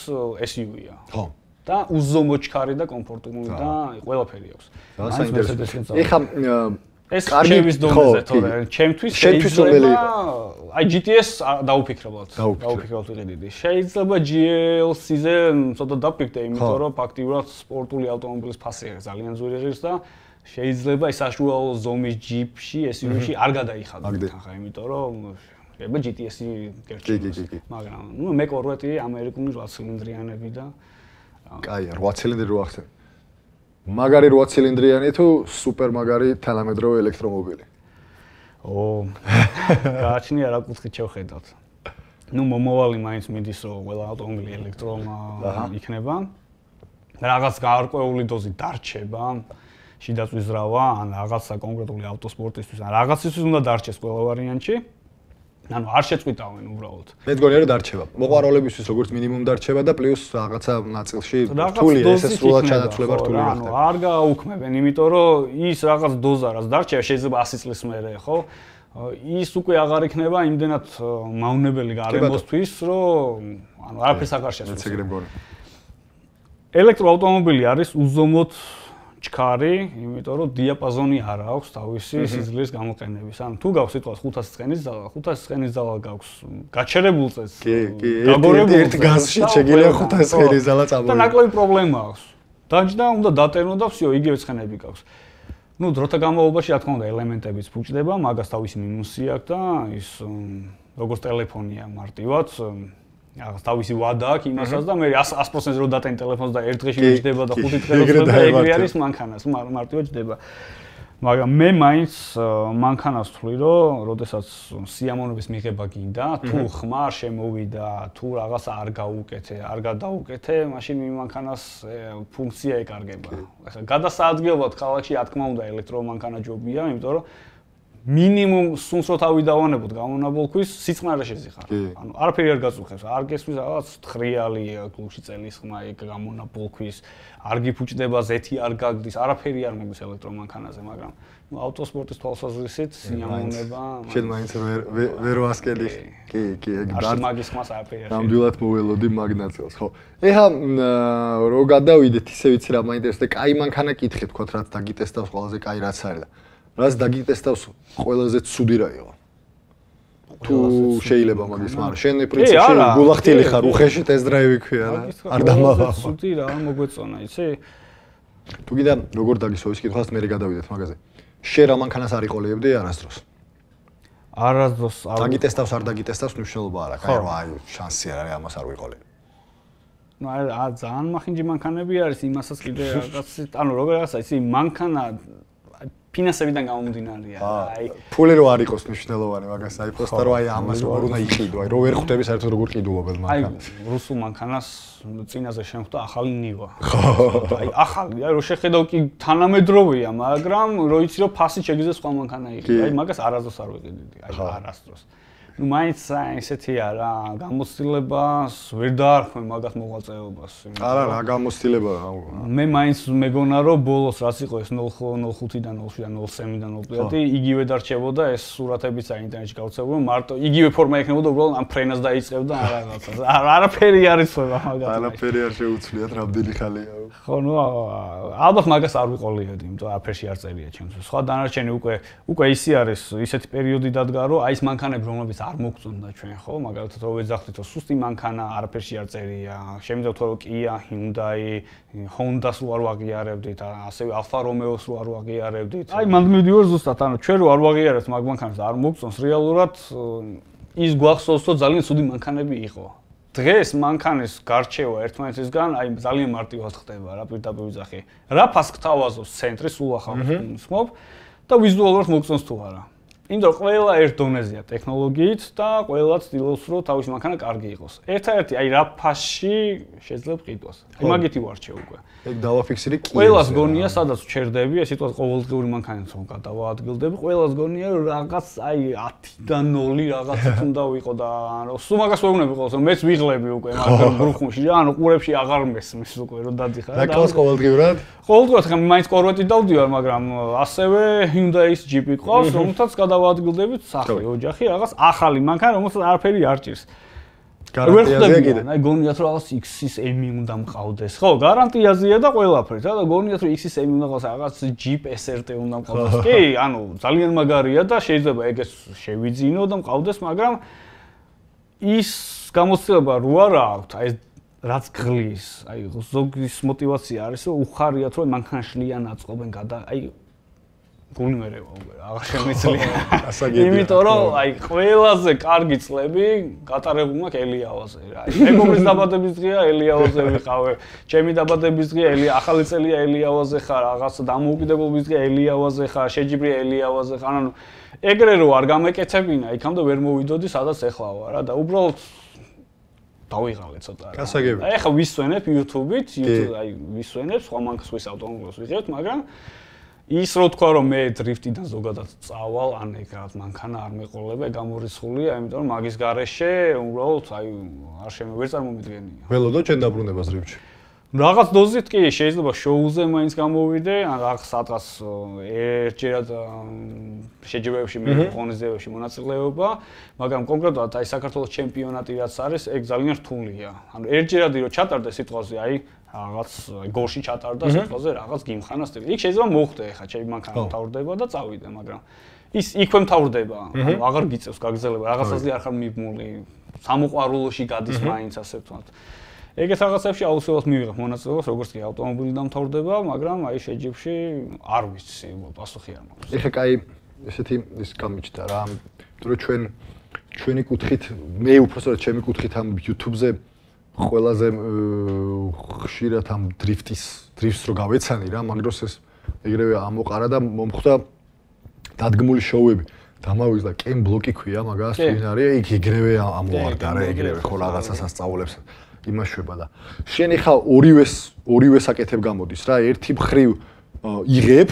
SUV-ია. ხო. და უზომო ჩქარი და კომფორტული და ყველაფერი აქვს. ეხა ეს ჩემთვის დონეზე თორე ჩემთვის შეიძლება აი GTS დაუფიქრებულად ვიყიდიდი. შეიძლება GLC-ზე ცოტა დაფიქრდე, იმიტომ რომ ფაქტიურად სპორტული ავტომობილის ფასი ძალიან ძვირი ღირს და შეიძლება ის საშუალო ზომის ჯიპში, SUV-ში არ გადაიხადოთ ხა, იმიტომ რომ შეიძლება GTS-ი გერჩევს. მაგრამ მე კორვეტი ამერიკული 8 ცილინდრიანები და კაი, 8 ცილინდრი რო ახსენ. მაგარი 8 ცილინდრიანი თუ სუპერ მაგარი თანამედროვე ელექტრომობილი? გააჩნია რა კუთხით შევხედავთ. მომავალი მაინც მიდის რომ ყველა ავტომობილი იქნება. რაღაც გარკვეული დოზი დარჩება, შიდაწვის ზრავა, ან რაღაცა კონკრეტული ავტოსპორტისთვის, ან რაღაცისთვის უნდა დარჩეს ყველა ვარიანტში. ანუ არ შეწყვიტავენ უბრალოდ. მე მგონია რომ დარჩება. მოყვარულებისთვის როგორც მინიმუმ დარჩება და პლუს რაღაცა ნაწილში რთული ეს სრულად ჩანაცვლება რთული ხდება. ანუ არ გააუქმებენ, იმიტომ რომ ის რაღაც დოზა რაც დარჩება შეიძლება 100 წლის მერე, ხო? ის უკვე აღარ იქნება იმდენად მავნებელი გარემოსთვის, რომ ანუ არაფერს აღარ შეცვლის. ელექტროავტომობილი არის უზომოდ ჩქარი, იმიტომ რომ დიაპაზონი არ აქვს თავისი სიძლიერის გამოყენების. ანუ თუ გაქვს სიტყვას 500 ცხენის ძალა, 500 ცხენის ძალა გაქვს გაჩერებულ წელს. გაგორებულ ერთ გაზში შეგიძლია 500 ცხენის ძალა წამოვიდე. და ნაკლები პრობლემა აქვს. დაჯდა უნდა დატენო და всё, იგივე ცხენები გაქვს. ნუ დროთა განმავლობაში რა თქმა უნდა ელემენტებიც ფუჭდება, მაგას თავისი მინუსი აქვს და ის როგორც ტელეფონია მარტივად რაღაც თავისი ვადა აქვს იმასაც და მე 100% რო დატენ ტელეფონს და ერთ დღეში მიჯდება და 5 დღე რო და ეგრე არის მანქანას მარტივად ჯდება. მაგრამ მე მაინც მანქანას ვთვლი რომ როდესაც სიამოვნების მიღება გინდა, თუ ხმარ შემოვიდა, თუ რაღაცა არ გაუკეთე, არ გადაუკეთე, მაშინ მანქანას ფუნქცია ეკარგება. ახლა გადასაადგილებლად ქალაქში რა თქმა უნდა ელექტრომანქანა ჯობია, იმიტომ რომ მინიმუმ სუნს რო თავი დავანებოთ გამონაბოლქვის სიწყნარე შეზიხარ. ანუ არაფერი არ გაწუხებს, არ გესმის რაღაც თხრიალი გულში წელის ხმა ეგ გამონაბოლქვის, არ გიფუჭდება ზეთი არ გაგდის, არაფერი არ მოგვის ელექტრომანქანაზე, მაგრამ ნუ ავტოსპორტის თვალსაზრისით სიამოვნება შენ მაინც ვერ ვასკელი. კი, ეგ მაგის ხმას არაფერი არ. ნამდვილად მოველოდი მაგნაცელს, ხო. ეხა რო გადავიდეთ, ისე ვიცი რა მაინტერესებს და კაი მანქანა კითხე თქვათ რაც დაგიტესტავს ყველაზე კაი რაც არის და რაც დაგიტესტავს ყველაზე ცუდი რა იყო? თუ შეიძლება მაგის, მაგრამ შენ პრინციპში გულახტილი ხარ, უხეში ტესტ-დრაივი ქვია რა. არ დამავა. ცუდი რა მოგვეწონა, იცი? თუ კიდე როგორ დაგისვა ის კითხვას მე გადავიდეთ მაგაზე. შენ რა მანქანას არ იყოლიებდი არასდროს? არასდროს არ დაგიტესტავს არ დაგიტესტავს მნიშვნელობა არ აქვს. აი შანსი არ არის ამას არ ვიყოლე. ნუ ძალიან მახინჯი მანქანები არის იმასაც კიდე რაღაც ანუ როგორ რაღაცა იცი მანქანა ფინანსებიდან გამომდინარეა. აი ფული რო არ იყოს მნიშვნელოვანი მაგას, აი პროსტა რო აი ამას რო უნდა იყიდო, აი რო ვერ ხვდები საერთოდ როგორ ყიდულობენ მანქანას. აი რუსულ მანქანას წინაზე შემხვდა ახალი ნივა. აი ახალი, აი რო შეხედავ კი თანამედროვეა, მაგრამ რო იცი რომ ფასი შეგიძლია სხვა მანქანა იყიდო. აი მაგას არასდროს არ ვიყიდიდი, აი არასდროს. ნუ მაინც ესეთია რა, გამოცდილებას ვერ დაარქმე მაგას მოღვაწეობას. არა, რა გამოცდილება. მე მაინც მეგონა რომ ბოლოს რაც იყო ეს 05-დან 07-დან 03-დან 05-ი იგივე დარჩებოდა ეს სურათებიც ინტერნეტში გავცელებო, მარტო იგივე ფორმა ექნებოდა, უბრალოდ ამ ფრენას დაიწყებდა რაღაცა. არაფერი არ იცოდა მაგას. არაფერი არ შეუცვლიათ, რამდენი ხალია. ხო, ნუ ალბათ მაგას არ ვიყოლიებდი, იმიტომ რომ არაფერში არ წერია ჩემთვის. სხვა დანარჩენი უკვე ისი არის, ისეთი პერიოდი დადგა, რომ აი ეს მანქანები რომლებიც არ მოგწონდა ჩვენ, ხო? მაგალითად რო ვეძახდით, რომ სუსტი მანქანა არაფერში არ წერია. შემიძლია თქვა, რომ Kia, Hyundai, Honda-ს რო არ ვაღიარებდით, ასევე Alfa Romeo-ს რო არ ვაღიარებდით. აი მანდ მივიდივარ ზუსტად, ანუ ჩვენ რო არ ვაღიარებთ მაგ მანქანას და არ მოგწონს, რეალურად ის გვახსოვს, რომ ძალიან ცუდი მანქანები იყო. დღეს მანქანის გარჩევა ერთმანეთისგან აი ძალიან მარტივად ხდება რა პირდაპირ ვიძახი. რა ფასს გთავაზობს ცენტრი სულ ახალ ხმობ და ვიზუალურად მოგწონს თუ არა. იმიტომ რომ ყველა ერთ დონეზეა ტექნოლოგიით და ყველაც ცდილობს რომ თავის მანქანა კარგი იყოს. ერთადერთი აი რა ფასში შეიძლება ყიდვას. აი მაგითი ვარჩევ უკვე. ეგ დავაფიქსირე კი. ყველას გონია სადაც ჩერდები, ეს სიტყვა ყოველდღიური მანქანით რომ გადავაადგილდები, ყველას გონია რომ რაღაც აი 10-დან 0 რაღაცით უნდა ვიყო და ანუ სულ მაგას ვეუბნები ყოველს რომ მეც ვიღლები უკვე მაგრამ გრუხმში რა ანუ ყურებში აღარ მესმის უკვე რომ დადიხარ და კლას ყოველდღიურად? ყოველდღიურად ხა მაინც კორვეტით დავდივარ, მაგრამ ასევე Hyundai-ის Jeep-ი ყავს, რომელთაც გადავაადგილდებით სახლი, ოჯახი, რაღაც ახალი მანქანა, რომელსაც არაფერი არ ჭირს. გარანტიაზეა კიდე. აი გონიათ რომ რაღაც X-ის M-ი უნდა მყავდეს. ხო, გარანტიაზეა და ყველაფერი, რა და გონიათ რომ X-ის M-ი უნდა ყავს, რაღაც Jeep SRT უნდა მყავდეს. კი, ანუ ძალიან მაგარია და შეიძლება ეგეც შევიძინო და მყავდეს, მაგრამ ის გამოცდილება რო არა აქვს, აი რაც გღლის, აი ზოგის мотиваცია არის რომ უხარიათ რომ მანქანაშლიან აწყობენ აი გული მერევა უკვე აღარ შემიძლია. იმიტომ რომ აი ყველაზე კარგი წლები გატარებულმა ელიავაზე რა. მეგობრის დაბადების დღეა ელიავაზე ვიყავე, ჩემი დაბადების დღეა ახალი წელია ელიავაზე ხარ, რაღაც დამოუკიდებლობის დღეა ელიავაზე ხარ, შეჯიბრია ელიავაზე ხარ, ანუ ეგრე რო არ გამეკეთებინა, იქამდე ვერ მოვიდოდი სადაც ეხლა ვარ რა და უბრალოდ დავიღალე ცოტა რა. გასაგებია. აი ხა ვისვენებ YouTube-ით, აი ვისვენებ, სხვა მანქანას ვის ავტომობილს ვიღებთ, მაგრამ ის რო თქვა რომ მე დრიფტიდან ზოგადად წავალ, ან ეგ რაღაც მანქანა არ მეყოლება, გამორიცხულია, იმიტომ რომ მაგის გარეშე უბრალოდ აი არ ვერ წარმომიდგენია. ველოდო ჩვენ დაბრუნებას დრიფტში. რაღაც დოზით კი შეიძლება შოუზე მაინც გამოვიდე, ან რაღაც სადღაც ერთჯერად შეჯიბრებებში მე ღონისძიებებში მონაწილეობა, მაგრამ კონკრეტულად აი საქართველოს ჩემპიონატი რაც არის, ეგ ძალიან რთულია. ანუ ერთჯერადი რო ჩატარდე სიტყვაზე, აი რაღაც გორში ჩატარდა სიტყვაზე რაღაც გიმხანა სტილი. იქ შეიძლება მოხდე ხა ჩემი მანქანა მთავრდება და წავიდე, მაგრამ ის იქვე მთავრდება, ანუ აღარ გიწევს გაგზელება, რაღაცაზე არ ხარ მიბმული, სამოყვარულოში გადის მაინც ასე ვთქვათ. ეგეთ რაღაცებში აუცილებლად მივიღებ მონაწილეობას, როგორც კი ავტომობილი დამთავრდება, მაგრამ აი შეჯიბრში არ ვიცი, პასუხი არ მაქვს. ეხლა კაი ესეთი ის გამიჩნდა რა, იმიტომ რომ ჩვენი კუთხით, მე უბრალოდ ჩემი კუთხით ამ YouTube-ზე ყველაზე ხშირად ამ დრიფტს რო გავეცანი რა, მაგ დროს ეს ეგრევე ამოყარა და მომხვდა დადგმული შოუები. დამავიწყდა კენ ბლოკი ქვია მაგას, ვინ არის, იქ ეგრევე ამოვარდა რა, ეგრევე ხო რაღაცას ასწავლებს. იმაშვება და შენი ხა ორივეს აკეთებ გამოდის რა, ერთი მხრივ იღებ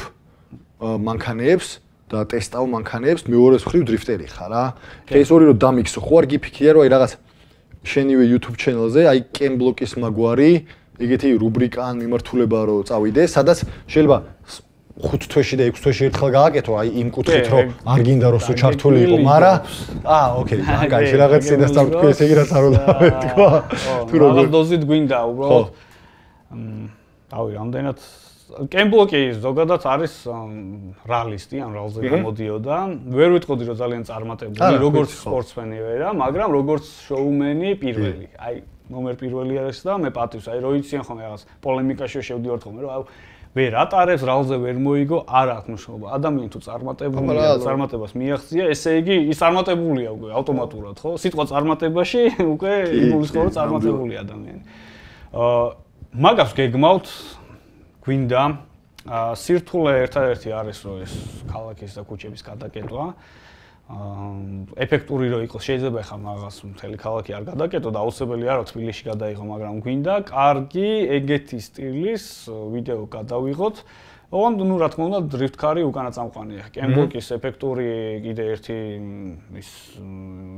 მანქანებს და ტესტავ მანქანებს, მეორეს მხრივ დრიფტერი ხარ რა. ეს ორი რო დამიქსო, ხო არ გიფიქრია რომ აი რაღაც შენივე YouTube channel-ზე აი კენ ბლოკის მაგვარი, ეგეთი რუბრიკა ან მიმართულება რო წავიდე, სადაც შეიძლება 5 თვეში და 6 თვეში ერთხელ გააკეთო, აი იმ კუთხით რომ არ გინდა რომ სულ ჩართული იყო, მაგრამ ოკეი, კაი, რაღაც შედასწავლო ესე იგი რაც არ უნდა თქვა. თუ რაღაც დოზით გვინდა უბრალოდ თავი რამდენად კემბლოკი ზოგადად არის რალისტი, ან რალზე გამოდიოდა. ვერ ვიტყოდი რომ ძალიან წარმატებული, როგორც სპორტსმენი ვერა, მაგრამ როგორც შოუმენი პირველი. აი, ნომერ პირველი არის და მე პატივს, აი რო იციან ხოლმე რაღაც პოლემიკაში შევდივართ ხოლმე, რომ ვერ ატარებს, რალზე ვერ მოიგო, არ აქვს მნიშვნელობა. ადამიანი თუ წარმატებულია, წარმატებას მიაღწია, ესე იგი ის წარმატებულია უკვე ავტომატურად, ხო? სიტყვა წარმატებაში უკვე იგულისხმება რომ წარმატებული ადამიანი. მაგას გეგმავთ გვინდა სირთულე ერთადერთი არის რომ ეს ქალაქის და ქუჩების გადაკეტვა. ეფექტური რო იყოს, შეიძლება ხა მაგას მთელი ქალაქი არ გადაკეტო და აუცილებელი არა თბილისში გადაიღო, მაგრამ გვინდა კარგი ეგეთი სტილის ვიდეო გადავიღოთ. ოღონდ ნუ რა თქმა უნდა დრიფტ-კარი უკანა წამყვანია. კემბლოკის ეფექტური კიდე ერთი ის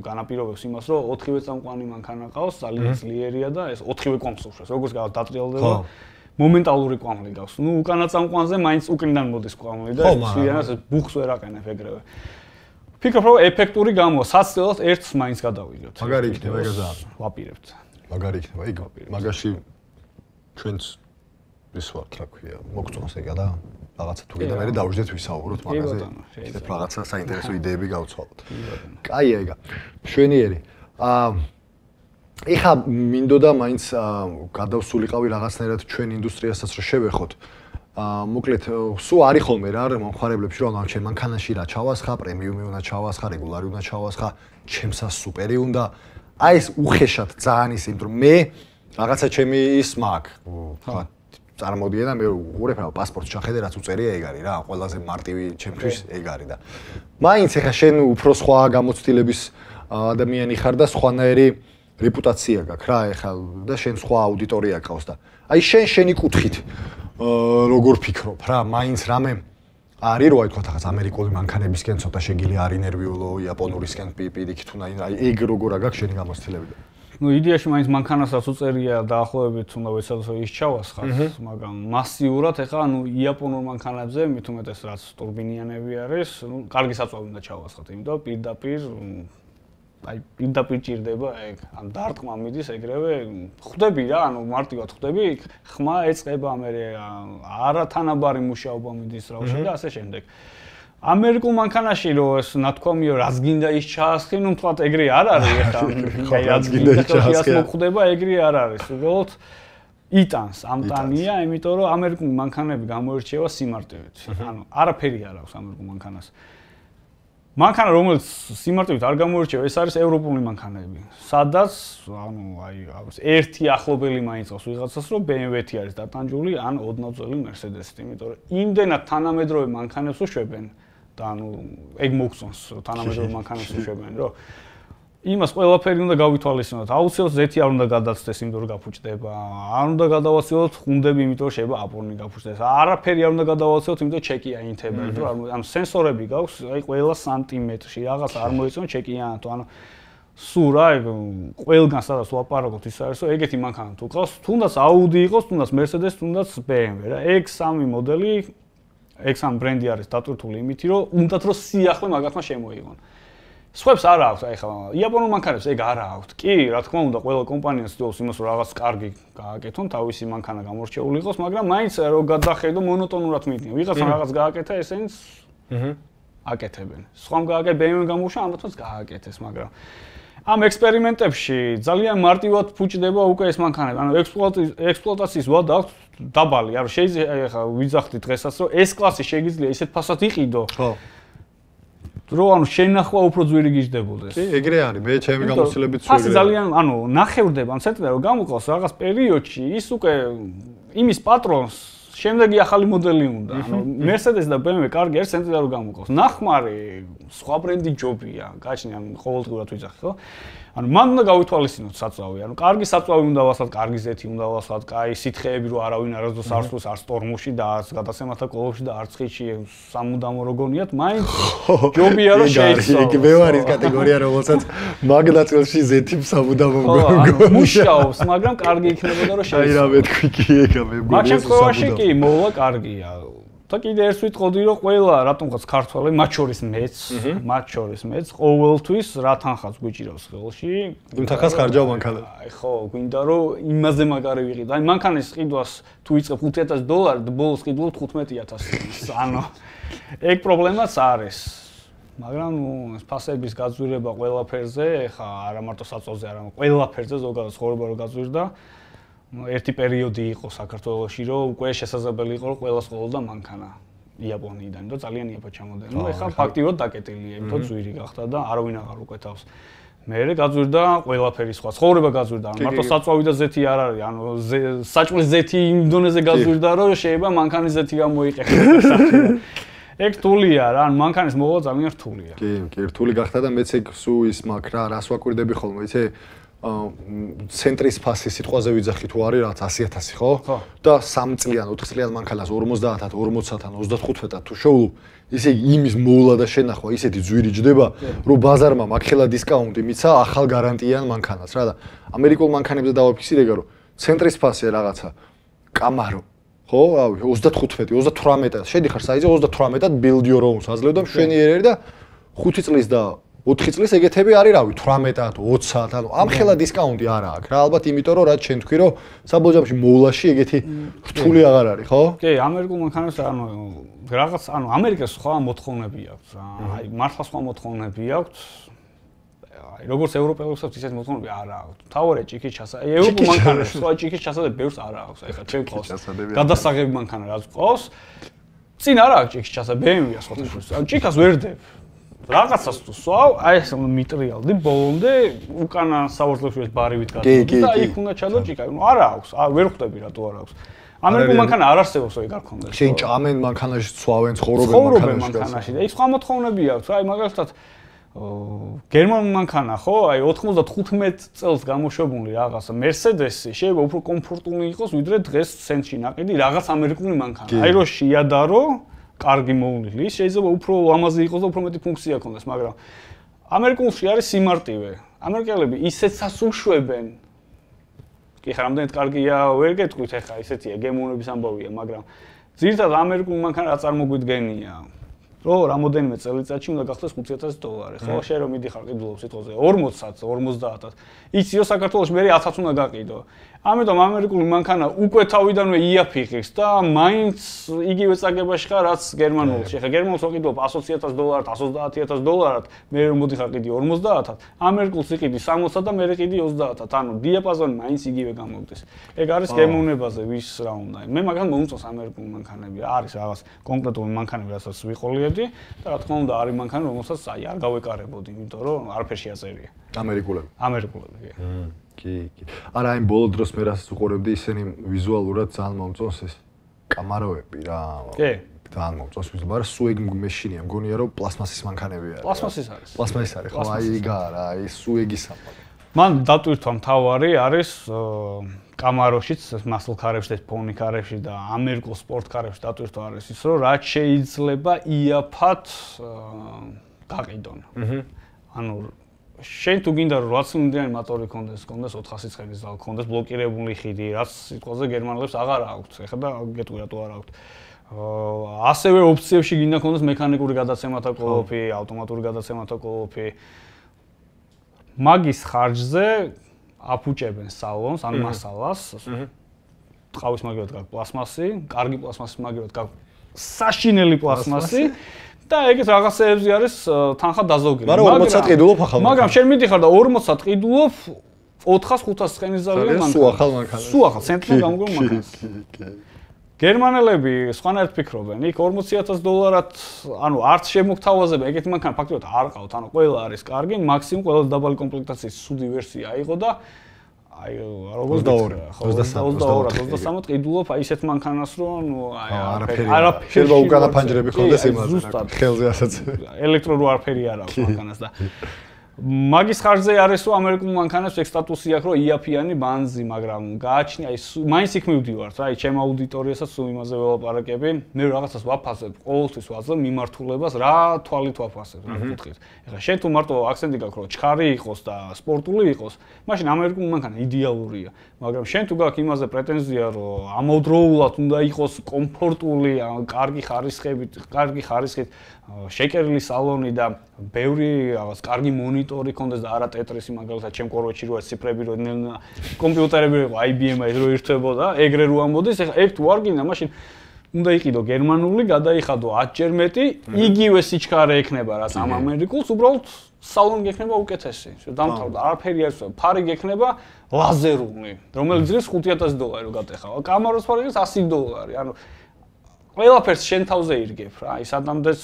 განაპირობებს იმას, რომ 4-ვე წამყვანი მანქანა ყავს, ძალიან ძლიერია და ეს 4-ვე კონსოლშეს, როგორც დატრიალდება. მომენტალური კვამლი გავს. ნუ უკანა წამყვანზე მაინც უკრიდან მოდის კვამლი და სვიანას ბუხს ვერ აყენებ ეგრევე. ფიქრობ რომ ეფექტური გამოვა, საცილად ერთს მაინც გადავიღებთ. მაგარი იქნება ეგ ზაა. ვაპირებთ. მაგარი იქნება ეგ. მაგაში ჩვენც ის ვარ, რა ქვია, მოგწონს ეგა და რაღაცა თუ კიდე მე დავждეთ ვისაუბროთ მაგაზე. ეს რაღაცა საინტერესო იდეები გავცვალოთ. კაი ეგა. მშვენიერი. ეხა მინდოდა მაინც გადავსულიყავი რაღაცნაირად ჩვენ ინდუსტრიასაც რომ შევეხოთ. მოკლედ სულ არის ხოლმე რა მომხმარებლებში რომ ამ ჩემ მანქანაში რა ჩავასხა, პრემიუმი უნდა ჩავასხა, რეგულარი უნდა ჩავასხა, ჩემსა სუპერი უნდა. აი ეს უხეშად ძალიან ის იმიტომ რომ მე რაღაცა ჩემი ის მაქვს. წარმოდიან და მე უყურებ რა პასპორტს ჩახედე რაც უწერია ეგ არის რა ყველაზე მარტივი ჩემთვის ეგ არის და მაინც ეხა შენ უფრო სხვა გამოცდილების ადამიანი ხარ და სხვანაირი რეპუტაცია გაქვს რა ეხა და შენ სხვა აუდიტორია გყავს და აი შენი კუთხით როგორ ფიქრობ რა მაინც რამე არის რო აი თქვა თახაც ამერიკული მანქანებისკენ ცოტა შეგილი არ ინერვიულო იაპონურისკენ პირიქით უნდა აი ეგ როგორ აქვს შენი გამოცდილებები ну იდეაში მაინც მანქანასაც უწერია დაახლოებით უნდა ვეცადოთ ის ჩავასხათ მაგრამ მასიურად ეხლა ანუ იაპონურ მანქანებზე მით უმეტეს რაც ტურბინიანები არის ну კარგი საწვავი უნდა ჩავასხათ იმიტომ პირდაპირ აი პირდაპირ ჭირდება ეგ ან დარტყმა მიდის ეგრევე ხვდები რა ანუ მარტივად ხვდები ხმა ეწყება მე არათანაბარი მუშაობა მიდის რავში და ასე შემდეგ ამერიკულ მანქანაში რო ეს ნათქვამიო რაც გინდა ის ჩაასხი ნუ თქვა ეგრე არ არის ეხლა აი რაც გინდა ჩაასხი მოხდება ეგრე არ არის უბრალოდ იტანს ამტანია იმიტომ რომ ამერიკული მანქანები გამოირჩევა სიმარტივით ანუ არაფერი არ აქვს ამერიკულ მანქანას მანქანა რომელიც სიმარტივით არ გამოირჩევა ეს არის ევროპული მანქანები სადაც ანუ აი ერთი ახლობელი მაინც ყავს ვიღაცას რომ BMW-ი არის დატანჯული ან ოდნავ-ძველი Mercedes-ი იმიტომ რომ იმდენად თანამედროვე მანქანებს უშვებენ და ანუ ეგ მოგწონს თანამედროვე მანქანებს უშვებენ რომ იმას ყველაფერი უნდა გავითვალისწინოთ აუცილებლად ზეთი არ უნდა გადაცდეს იმიტომ რომ გაფუჭდება არ უნდა გადავაცილოთ ხუნდები იმიტომ რომ შეიძლება აპორნი გაფუჭდეს არაფერი არ უნდა გადავაცილოთ იმიტომ რომ ჩეკი აინთება იმიტომ რომ ამ სენსორები გაქვს აი ყველა სანტიმეტრში რაღაც არ მოიწონს ჩეკიანათო ანუ სულ რა ყველგან სადაც ვაპარაკოთ ის არის რომ ეგეთი მანქანა თუ ყავს თუნდაც Audi იყოს თუნდაც Mercedes თუნდაც BMW რა ეგ სამი მოდელი ეგ სამ ბრენდი არის დატვირთული იმითი რომ უნდათ რომ სიახლე მაგათმა შემოიღონ სხვებს არ აქვს აი ხა იაპონურ მანქანებს ეგ არ აქვს კი რა თქმა უნდა ყველა კომპანია ცდილობს იმას რომ რაღაც კარგი გააკეთონ თავისი მანქანა გამორჩეული იყოს მაგრამ მაინც რომ გადახედო მონოტონურად მიდიან ვიღაცამ რაღაც გააკეთა ესენს აკეთებენ სხვამ გააკეთე BMW გამოუშვა ამათაც გააკეთეს მაგრამ ამ ექსპერიმენტებში ძალიან მარტივად ფუჭდება უკვე ეს მანქანები ანუ ექსპლუატაციის ვადა აქვს დაბალი არ შეიძლება ხა ვიძახდი დღესაც რომ ეს კლასი შეიძლება ისეთ ფასად იყიდო ხო რო ანუ შენახვა უფრო ძვირი გიждდებოდეს. კი, ეგრე არის. მე ჩემი გამოცდილებით სულ ასე ძალიან ანუ ნახევრდება ამ ცენტრიდან რომ გამოყავს რაღაც პერიოდში ის უკვე იმის პატრონს შემდეგი ახალი მოდელი უნდა. ანუ Mercedes და BMW კარგი არის ცენტრიდან რომ გამოყავს. ნახმარი სხვა ბრენდი ჯობია. გაჩნია ანუ ყოველდღურად ვიძახი, ხო? ანუ მან უნდა გავითვალისწინოთ საწვავი. ანუ კარგი საწვავი უნდა ვასხათ, კარგი ზეთი უნდა ვასხათ, კაი სითხეები რო არავინ არასდროს არ სულს არ სტორმუში და არც გადასემათა კოლოფში და არც ხიჩი სამუდამო როგონიათ, მაინც ჯობია რომ შეიცვალოს. იგი მე ვარის კატეგორია რომელსაც მაგნაწილში ზეთი სამუდამო მგონია. მუშაობს, მაგრამ კარგი იქნებოდა რომ შეიცვალოს. აი რა მეთქვი კი ეგა მე მგონია. მაგ შემთხვევაში კი მოვა კარგია. და კიდე ერთ ვიტყოდი რომ ყველა რატომღაც ქართველი მათ შორის მეც ყოველთვის რა თანხაც გვიჭირავს ხელში იმ თანხას ხარჯავ მანქანას აი ხო გვინდა რომ იმაზე მაგარი ვიყიდო აი მანქანის ყიდვას თუ იწყებ $5,000 და ბოლოს ყიდულობ 15,000 ანუ ეგ პრობლემაც არის მაგრამ ნუ ფასების გაძვირება ყველაფერზე ხა არა მარტო საწოლზე არამედ ყველაფერზე ზოგადად ცხოვრება რო გაძვირდა ერთი პერიოდი იყო საქართველოში, რომ უკვე შესაძლებელი იყო, რომ ყველას ყოლოდა მანქანა იაპონიიდან, რომ ძალიან იაფად ჩამოდენ. ნუ ეხლა ფაქტიურად დაკეტილია, იმიტომ ძვირი გახდა და არავინ აღარ უკვეთავს. მერე გაძვირდა ყველაფერი სხვა. ცხოვრება გაძვირდა, მარტო საწვავი და ზეთი არ არის, ანუ საჭმლის ზეთი იმ დონეზე გაძვირდა, რომ შეიძლება მანქანის ზეთი გამოიყენოს. ეგ რთულია რა, ან მანქანის მოვა ძალიან რთულია. კი, რთული გახდა და მეც ეგ სულ ის მაგ რა, რას ვაკვირდები ხოლმე, იცი? ცენტრის ფასი სიტყვაზე ვიძახი თუ არის რაც 100,000 ხო? და 3 წლიან, 4 წლიან მანქანას 50-ად, 40-ად, 35-ად თუ შეულობ, ისე იმის მოვლა და შენახვა ისეთი ძვირი ჯდება, რომ ბაზარმა მაგხელა დისკაუნტი მიცა ახალ გარანტიან მანქანას რა და ამერიკულ მანქანებზე დავაფიქსირე რომ ცენტრის ფასი რაღაცა კამარო ხო? რავი 35, 38-ად შედიხარ საიზე 38-ად build your own აძლევ და მშვენიერი და 5 წლის და 4 წლის ეგეთები არის რავი 18-ად 20-ად ანუ ამ ხელა დისკაუნტი არა აქვს რა ალბათ იმიტომ რომ რაც შენ თქვი რომ საბოლოოში მოვლაში ეგეთი რთული აღარ არის ხო? კი ამერიკულ მანქანებს ანუ რაღაც ანუ ამერიკას სხვა მოთხოვნები აქვს აი მართლა სხვა მოთხოვნები აქვს აი როგორც ევროპელებსაც ისეთ მოთხოვნები არ აქვს თავარია ჭიქის ჩასადები ევროპულ მანქანებს სხვა ჭიქის ჩასადები ბევრს არ აქვს აი ხა ჩემ ყავს გადასაღები მანქანა რაც ყავს წინ არ აქვს ჭიქის ჩასადები BMW-ია სხვათა ანუ ჭიქას ვერ დებ რაღაცას თუ სვავ, აი ეს მეტრიალდი ბოლომდე უკანა საურძლებში ბარივით გადავიდა და იქ უნდა ჩადო ჭიკა. ნუ არა აქვს, ვერ ხვდები რატო არ აქვს. ამერიკულ მანქანა არ არსებობს ეგ არ ქონდეს. შენ ჭამენ მანქანაში, ცვავენ, ცხოვრობენ მანქანაში. და ის სხვა მოთხოვნები აქვს, აი მაგალითად გერმანულ მანქანა ხო, აი 95 წელს გამოშვებული რაღაც Mercedes-ი შეიძლება უფრო კომფორტული იყოს ვიდრე დღეს ცენტრში ნაყიდი რაღაც ამერიკული მანქანა. აი რო შეიადარო, კარგი მოვლილი, შეიძლება უფრო ლამაზი იყოს და უფრო მეტი ფუნქცია ქონდეს, მაგრამ ამერიკულში არის სიმარტივე. ამერიკელები ისეცაც უშვებენ. კი ხა რამდენად კარგია ვერ გეტყვით ახლა ისეთია გემოვნების ამბავია, მაგრამ ძირითადად ამერიკულ მანქანა რა წარმოგვიდგენია. რო რამოდენიმე წელიწადში უნდა გახდეს $5,000, ხო? შენ რომ მიდიხარ ყიდულობ სიტყვაზე 40-ად, 50-ად. იციო საქართველოში მე 1000-ად უნდა გაყიდო. ამიტომ ამერიკული მანქანა უკვე თავიდანვე იაფიხებს და მაინც იგივე წაგებაში ხარ რაც გერმანულში. ხა გერმანულს ვიყიდულობ $120,000, $130,000, მე რომ მოდიხარ ყიდი 50-ად, ამერიკულს იყიდი 60-ად და მე ყიდი 30-ად. ანუ დიაპაზონი მაინც იგივე გამოგდის. ეგ არის გემოვნებაზე ვის რა უნდა. მე მაგალითად მომწონს ამერიკული მანქანები. არის რაღაც კონკრეტული მანქანები, რასაც ვიყოლიებდი და რა თქმა უნდა არის მანქანა, რომელსაც აი არ გავეკარებოდი, იმიტომ რომ არაფერში აზერია. ამერიკულები. ამერიკულები. კი. არა, აი ბოლო დროს მე რასაც უყურებდი, ისინი ვიზუალურად ძალიან მომწონს ეს კამაროები რა. კი. ძალიან მომწონს ვიზუალურად, მაგრამ სუეგ მეშინია, მგონია რომ პლასმასის მანქანები არის. პლასმასის არის. პლასმასის არის, ხო, აი იგა რა, აი სუეგის ამბავი. მან დატვირთვა მთავარი არის კამაროშიც, მასლ ქარებში, ფონი ქარებში და ამერიკულ სპორტ ქარებში დატვირთვა არის ის, რომ რაც შეიძლება იაფად გაყიდონ. ანუ შენ თუ გინდა რომ 8 ცილინდრიანი მოტორი ქონდეს 400 ცხენის ზალ ქონდეს ბლოკირებული ხიდი, რაც სიტყვაზე გერმანელებს აღარ აქვთ. ეხლა და გეტყვი რატო არ აქვთ. ასევე ოფციებში გინდა ქონდეს მექანიკური გადაცემათა კოლოფი, ავტომატური გადაცემათა კოლოფი. მაგის ხარჯზე აფუჭებენ სალონს, ან მასალას. ტყავის მაგივრად გაქვს პლასმასი, კარგი პლასმასის მაგივრად გაქვს საშინელი პლასმასი. და ეგეთ რაღაცეებზე არის თანხა დაზოგილი. მაგრამ 40-ად ყიდულობ ახალ მანქანას. მაგრამ შენ მიდიხარ და 40-ად ყიდულობ 400-500 ცხენის ზალიან მანქანას. სულ ახალ მანქანას. სულ ახალ ცენტრიდან გამგრულ მანქანას. გერმანელები სხვანაირად ფიქრობენ. იქ $40,000-ად, ანუ არც შემოგთავაზებენ ეგეთი მანქანა ფაქტობრივად არ ყავთ. ანუ ყველა არის კარგი, მაქსიმუმ ყველა დაბალი კომპლექტაციის სუდი ვერსია იყო და აი როგორც 22 ყიდულობ აი ისეთ მანქანას რომ ნუ აი არაფერი შეიძლება უკანა ფანჯრები ხონდეს იმაზე ხელზე ასაც ელექტრო რო არაფერი არ აქვს მანქანას და მაგის ხარჯზე არის რომ ამერიკულ მანქანებს ეგ სტატუსი აქვს რომ იაფიანი ბანზი, მაგრამ გააჩნია აი მაინც იქ მივდივართ რა, აი ჩემ აუდიტორიასაც სულ იმაზე ველაპარაკები, მე რაღაცას ვაფასებ, ყოველთვის ვაძლევ მიმართულებას რა თვალით ვაფასებ, რა კუთხით. ეხლა შენ თუ მარტო აქცენტი გაქვს რომ ჩქარი იყოს და სპორტული იყოს, მაშინ ამერიკული მანქანა იდეალურია, მაგრამ შენ თუ გაქვს იმაზე პრეტენზია რომ ამავდროულად უნდა იყოს კომფორტული, კარგი ხარისხით, შეკერილი სალონი და ბევრი რაღაც კარგი მონიტორი ქონდეს და არა ტეტრისი მაგალითად ჩემ კორვეთში რო არის ციფრები რო კომპიუტერები რო IBM-ი რო ირთვებოდა, ეგრე რო ამბოდეს, ეხლა ერთ თუ არ გინდა, მაშინ უნდა იყიდო გერმანული, გადაიხადო 10 ჯერ მეტი, იგივე სიჩქარე ექნება რაც ამ ამერიკულს, უბრალოდ სალონი გექნება უკეთესი. დამთავრდა, არაფერი არ ისე, ფარი გექნება ლაზერული, რომელიც ძირს $5,000 რო გატეხა. კამაროს ფარი ის $100. ანუ ყველაფერს შენ თავზე ირგებ რა, ის ადამიანს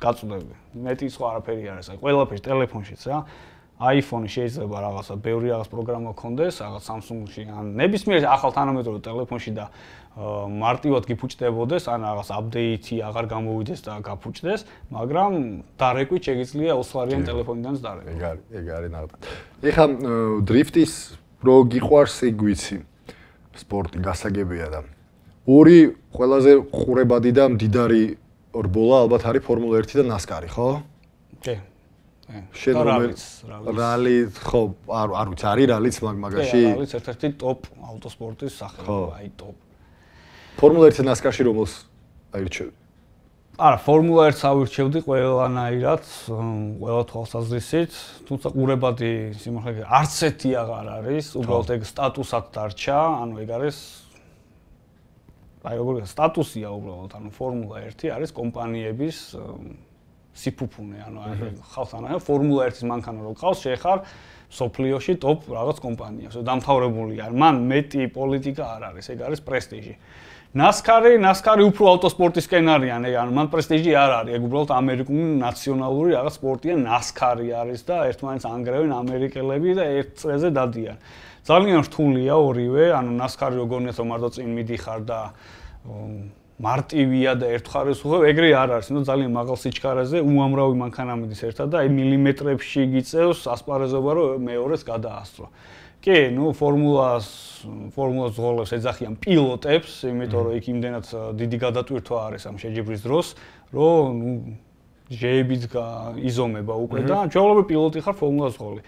გაწუდები. მეტი სხვა არაფერი არ არის. აი ყველაფერს ტელეფონშიც რა. iPhone-ი შეიძლება რაღაცა ბევრი რაღაც პროგრამა ქონდეს, რაღაც Samsung-ში ან ნებისმიერ ახალ თანამედროვე ტელეფონში და მარტივად გიფუჭდებოდეს, ან რაღაც აპდეიტი აღარ გამოვიდეს და გაფუჭდეს, მაგრამ დარეკვით შეგიძლია $20 ტელეფონიდანაც დარეკო. ეგ არის ნახეთ. ეხლა დრიფტის რო გიყვარს ეგ ვიცი. სპორტი გასაგებია და ორი ყველაზე ყურებადი და მდიდარი რბოლა ალბათ არის ფორმულა 1 და NASCAR-ი, ხო? კი. შენ რალი, ხო, არ ვიცი, არის რალიც მაგაში? რალიც ერთ-ერთი ტოპ ავტოსპორტის სახეობა, აი ტოპ. ფორმულა 1 და NASCAR-ში რომელს აირჩევდი? არა, ფორმულა 1-ს ავირჩევდი ყველანაირად, ყველა თვალსაზრისით, თუმცა ყურებადი სიმართლე არც ერთი აღარ არის, უბრალოდ ეგ სტატუსად დარჩა, ანუ ეგ არის აი როგორ სტატუსია უბრალოდ, ანუ ფორმულა 1 არის კომპანიების სიფუფუნე, ანუ ხალხთან ახლა ფორმულა 1-ის მანქანა რო ყავს, შეხარ სოფლიოში ტოპ რაღაც კომპანიას, დამთავრებულია. მან მეტი პოლიტიკა არ არის, ეგ არის პრესტიჟი. NASCAR-ი უფრო ავტოსპორტისკენ არიან, ანუ მან პრესტიჟი არ არის, ეგ უბრალოდ ამერიკული ნაციონალური რაღაც სპორტია, NASCAR-ი არის და ერთმანეთს ანგრევენ ამერიკელები და ერთ წრეზე დადიან. ძალიან რთულია ორივე, ანუ NASCAR-ი როგორია რომ მარტო წინ მიდიხარ და მარტივია და ერთხარეს უღებ, ეგრე არ არის, ნუ ძალიან მაღალ სიჩქარეზე უამრავი მანქანა მიდის ერთად და აი მილიმეტრებში გიწევს ასპარეზობა რომ მეორეს გადაასწრო. კი, ნუ ფორმულას ზღოლებს ეძახიან პილოტებს, იმიტომ რომ იქ იმდენად დიდი გადატვირთვა არის ამ შეჯიბრის დროს, რომ ნუ ჟეებით იზომება უკვე და ჩვეულებრივ პილოტი ხარ ფორმულას ზღოლი.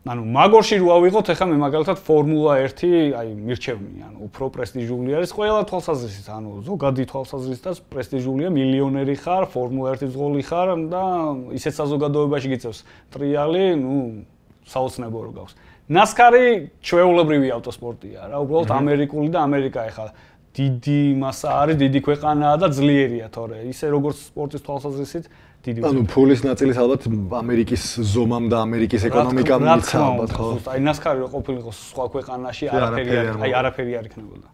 ანუ მაგორში რო ავიღოთ, ეხლა მე მაგალითად ფორმულა 1, აი მირჩევნია, ანუ უფრო პრესტიჟული არის ყველა თვალსაზრისით, ანუ ზოგადი თვალსაზრისითაც პრესტიჟულია, მილიონერი ხარ, ფორმულა 1 ზღოლი ხარ და ისეთ საზოგადოებაში გიწევს ტრიალი, ნუ საოცნებო რო გავს. NASCAR-ი ჩვეულებრივი ავტოსპორტია რა, უბრალოდ ამერიკული და ამერიკა ეხლა დიდი მასა არის, დიდი ქვეყანაა და ძლიერია, თორე ისე როგორც სპორტის თვალსაზრისით დიდი. ანუ ფულის ნაწილის ალბათ ამერიკის ზომამ და ამერიკის ეკონომიკამ მიცა ალბათ, ხო? აი NASCAR-ი რო ყოფილიყო სხვა ქვეყანაში, არაფერი არ იქნებოდა.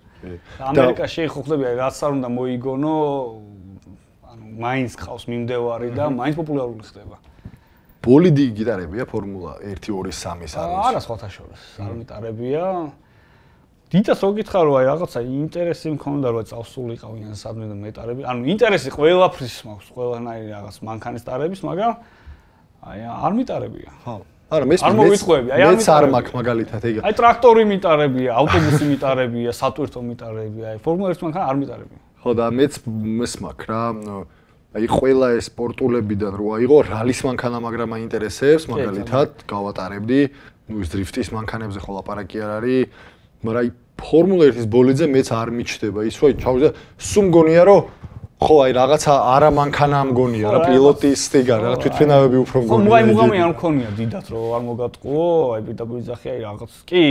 ამერიკაში ხო ხდები, რაც არ უნდა მოიგონო, ანუ მაინც ყავს მიმდევარი და მაინც პოპულარული ხდება. ბოლიდი გიტარებია ფორმულა 1, 2, 3-ის არის. არა, სხვათა შორის. არ მიტარებია. დიდას რო გითხარ რომ აი რაღაცა ინტერესი მქონდა რომ წავსულიყავიან სადმე და მეტარები. ანუ ინტერესი ყველაფრის მაქვს, ყველანაირი რაღაც მანქანის ტარების, მაგრამ აი არ მიტარებია. ხო. არა, მე არ მოვიწყობები, აი მეც არ მაქვს მაგალითად ეგ. აი ტრაქტორი მიტარებია, ავტობუსი მიტარებია, სატვირთო მიტარებია, აი ფორმულა 1 მანქანა არ მიტარებია. ხო და მეც მაქვს რა, აი ყველა ეს სპორტულებიდან რო აიღო რალის მანქანა, მაგრამ მაინტერესებს, მაგალითად გავატარებდი, ნუ ის დრიფტის მანქანებზე ხო ლაპარაკი არ არის. მაგრამ აი ფორმულა 1-ის ბოლიძე მეც არ მიჩდება ის რომ ჩავიდა სულ მგონია რომ ხო აი რაღაცა არა მანქანა მგონია რა პილოტის სტიგა რა თვითფრენავები უფრო მგონია. ხო მუღამი არ მქონია დიდად რომ არ მოგატყუო აი პირდაპირ ძახი აი რაღაც კი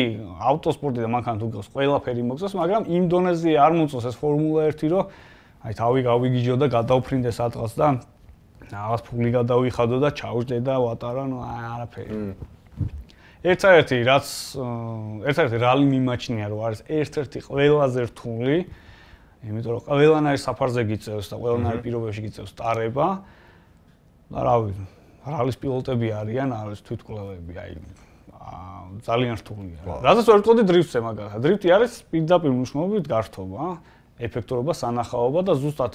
ავტოსპორტი და მანქანა თუ გავს ყველაფერი მოგწევს მაგრამ იმ დონეზე არ მოწევს ეს ფორმულა 1 რომ აი თავი გავიგიჯო და გადავფრინდე სადღაც და რაღაც ფული გადავიხადო და ჩავждე და ვატარა ნუ არაფერი. ერთ-ერთი რალი მიმაჩნია რომ არის ერთ-ერთი ყველაზე რთული, იმიტომ რომ ყველანაირ საფარზე გიწევს და ყველანაირ პირობებში გიწევს ტარება. და რავი, რალის პილოტები არიან, არის თვითკვლევები, აი ძალიან რთულია. რადგან ვერ ვიტყოდი დრიფტზე მაგალითად. დრიფტი არის პირდაპირ მნიშვნელობით გართობა, ეფექტურობა, სანახაობა და ზუსტად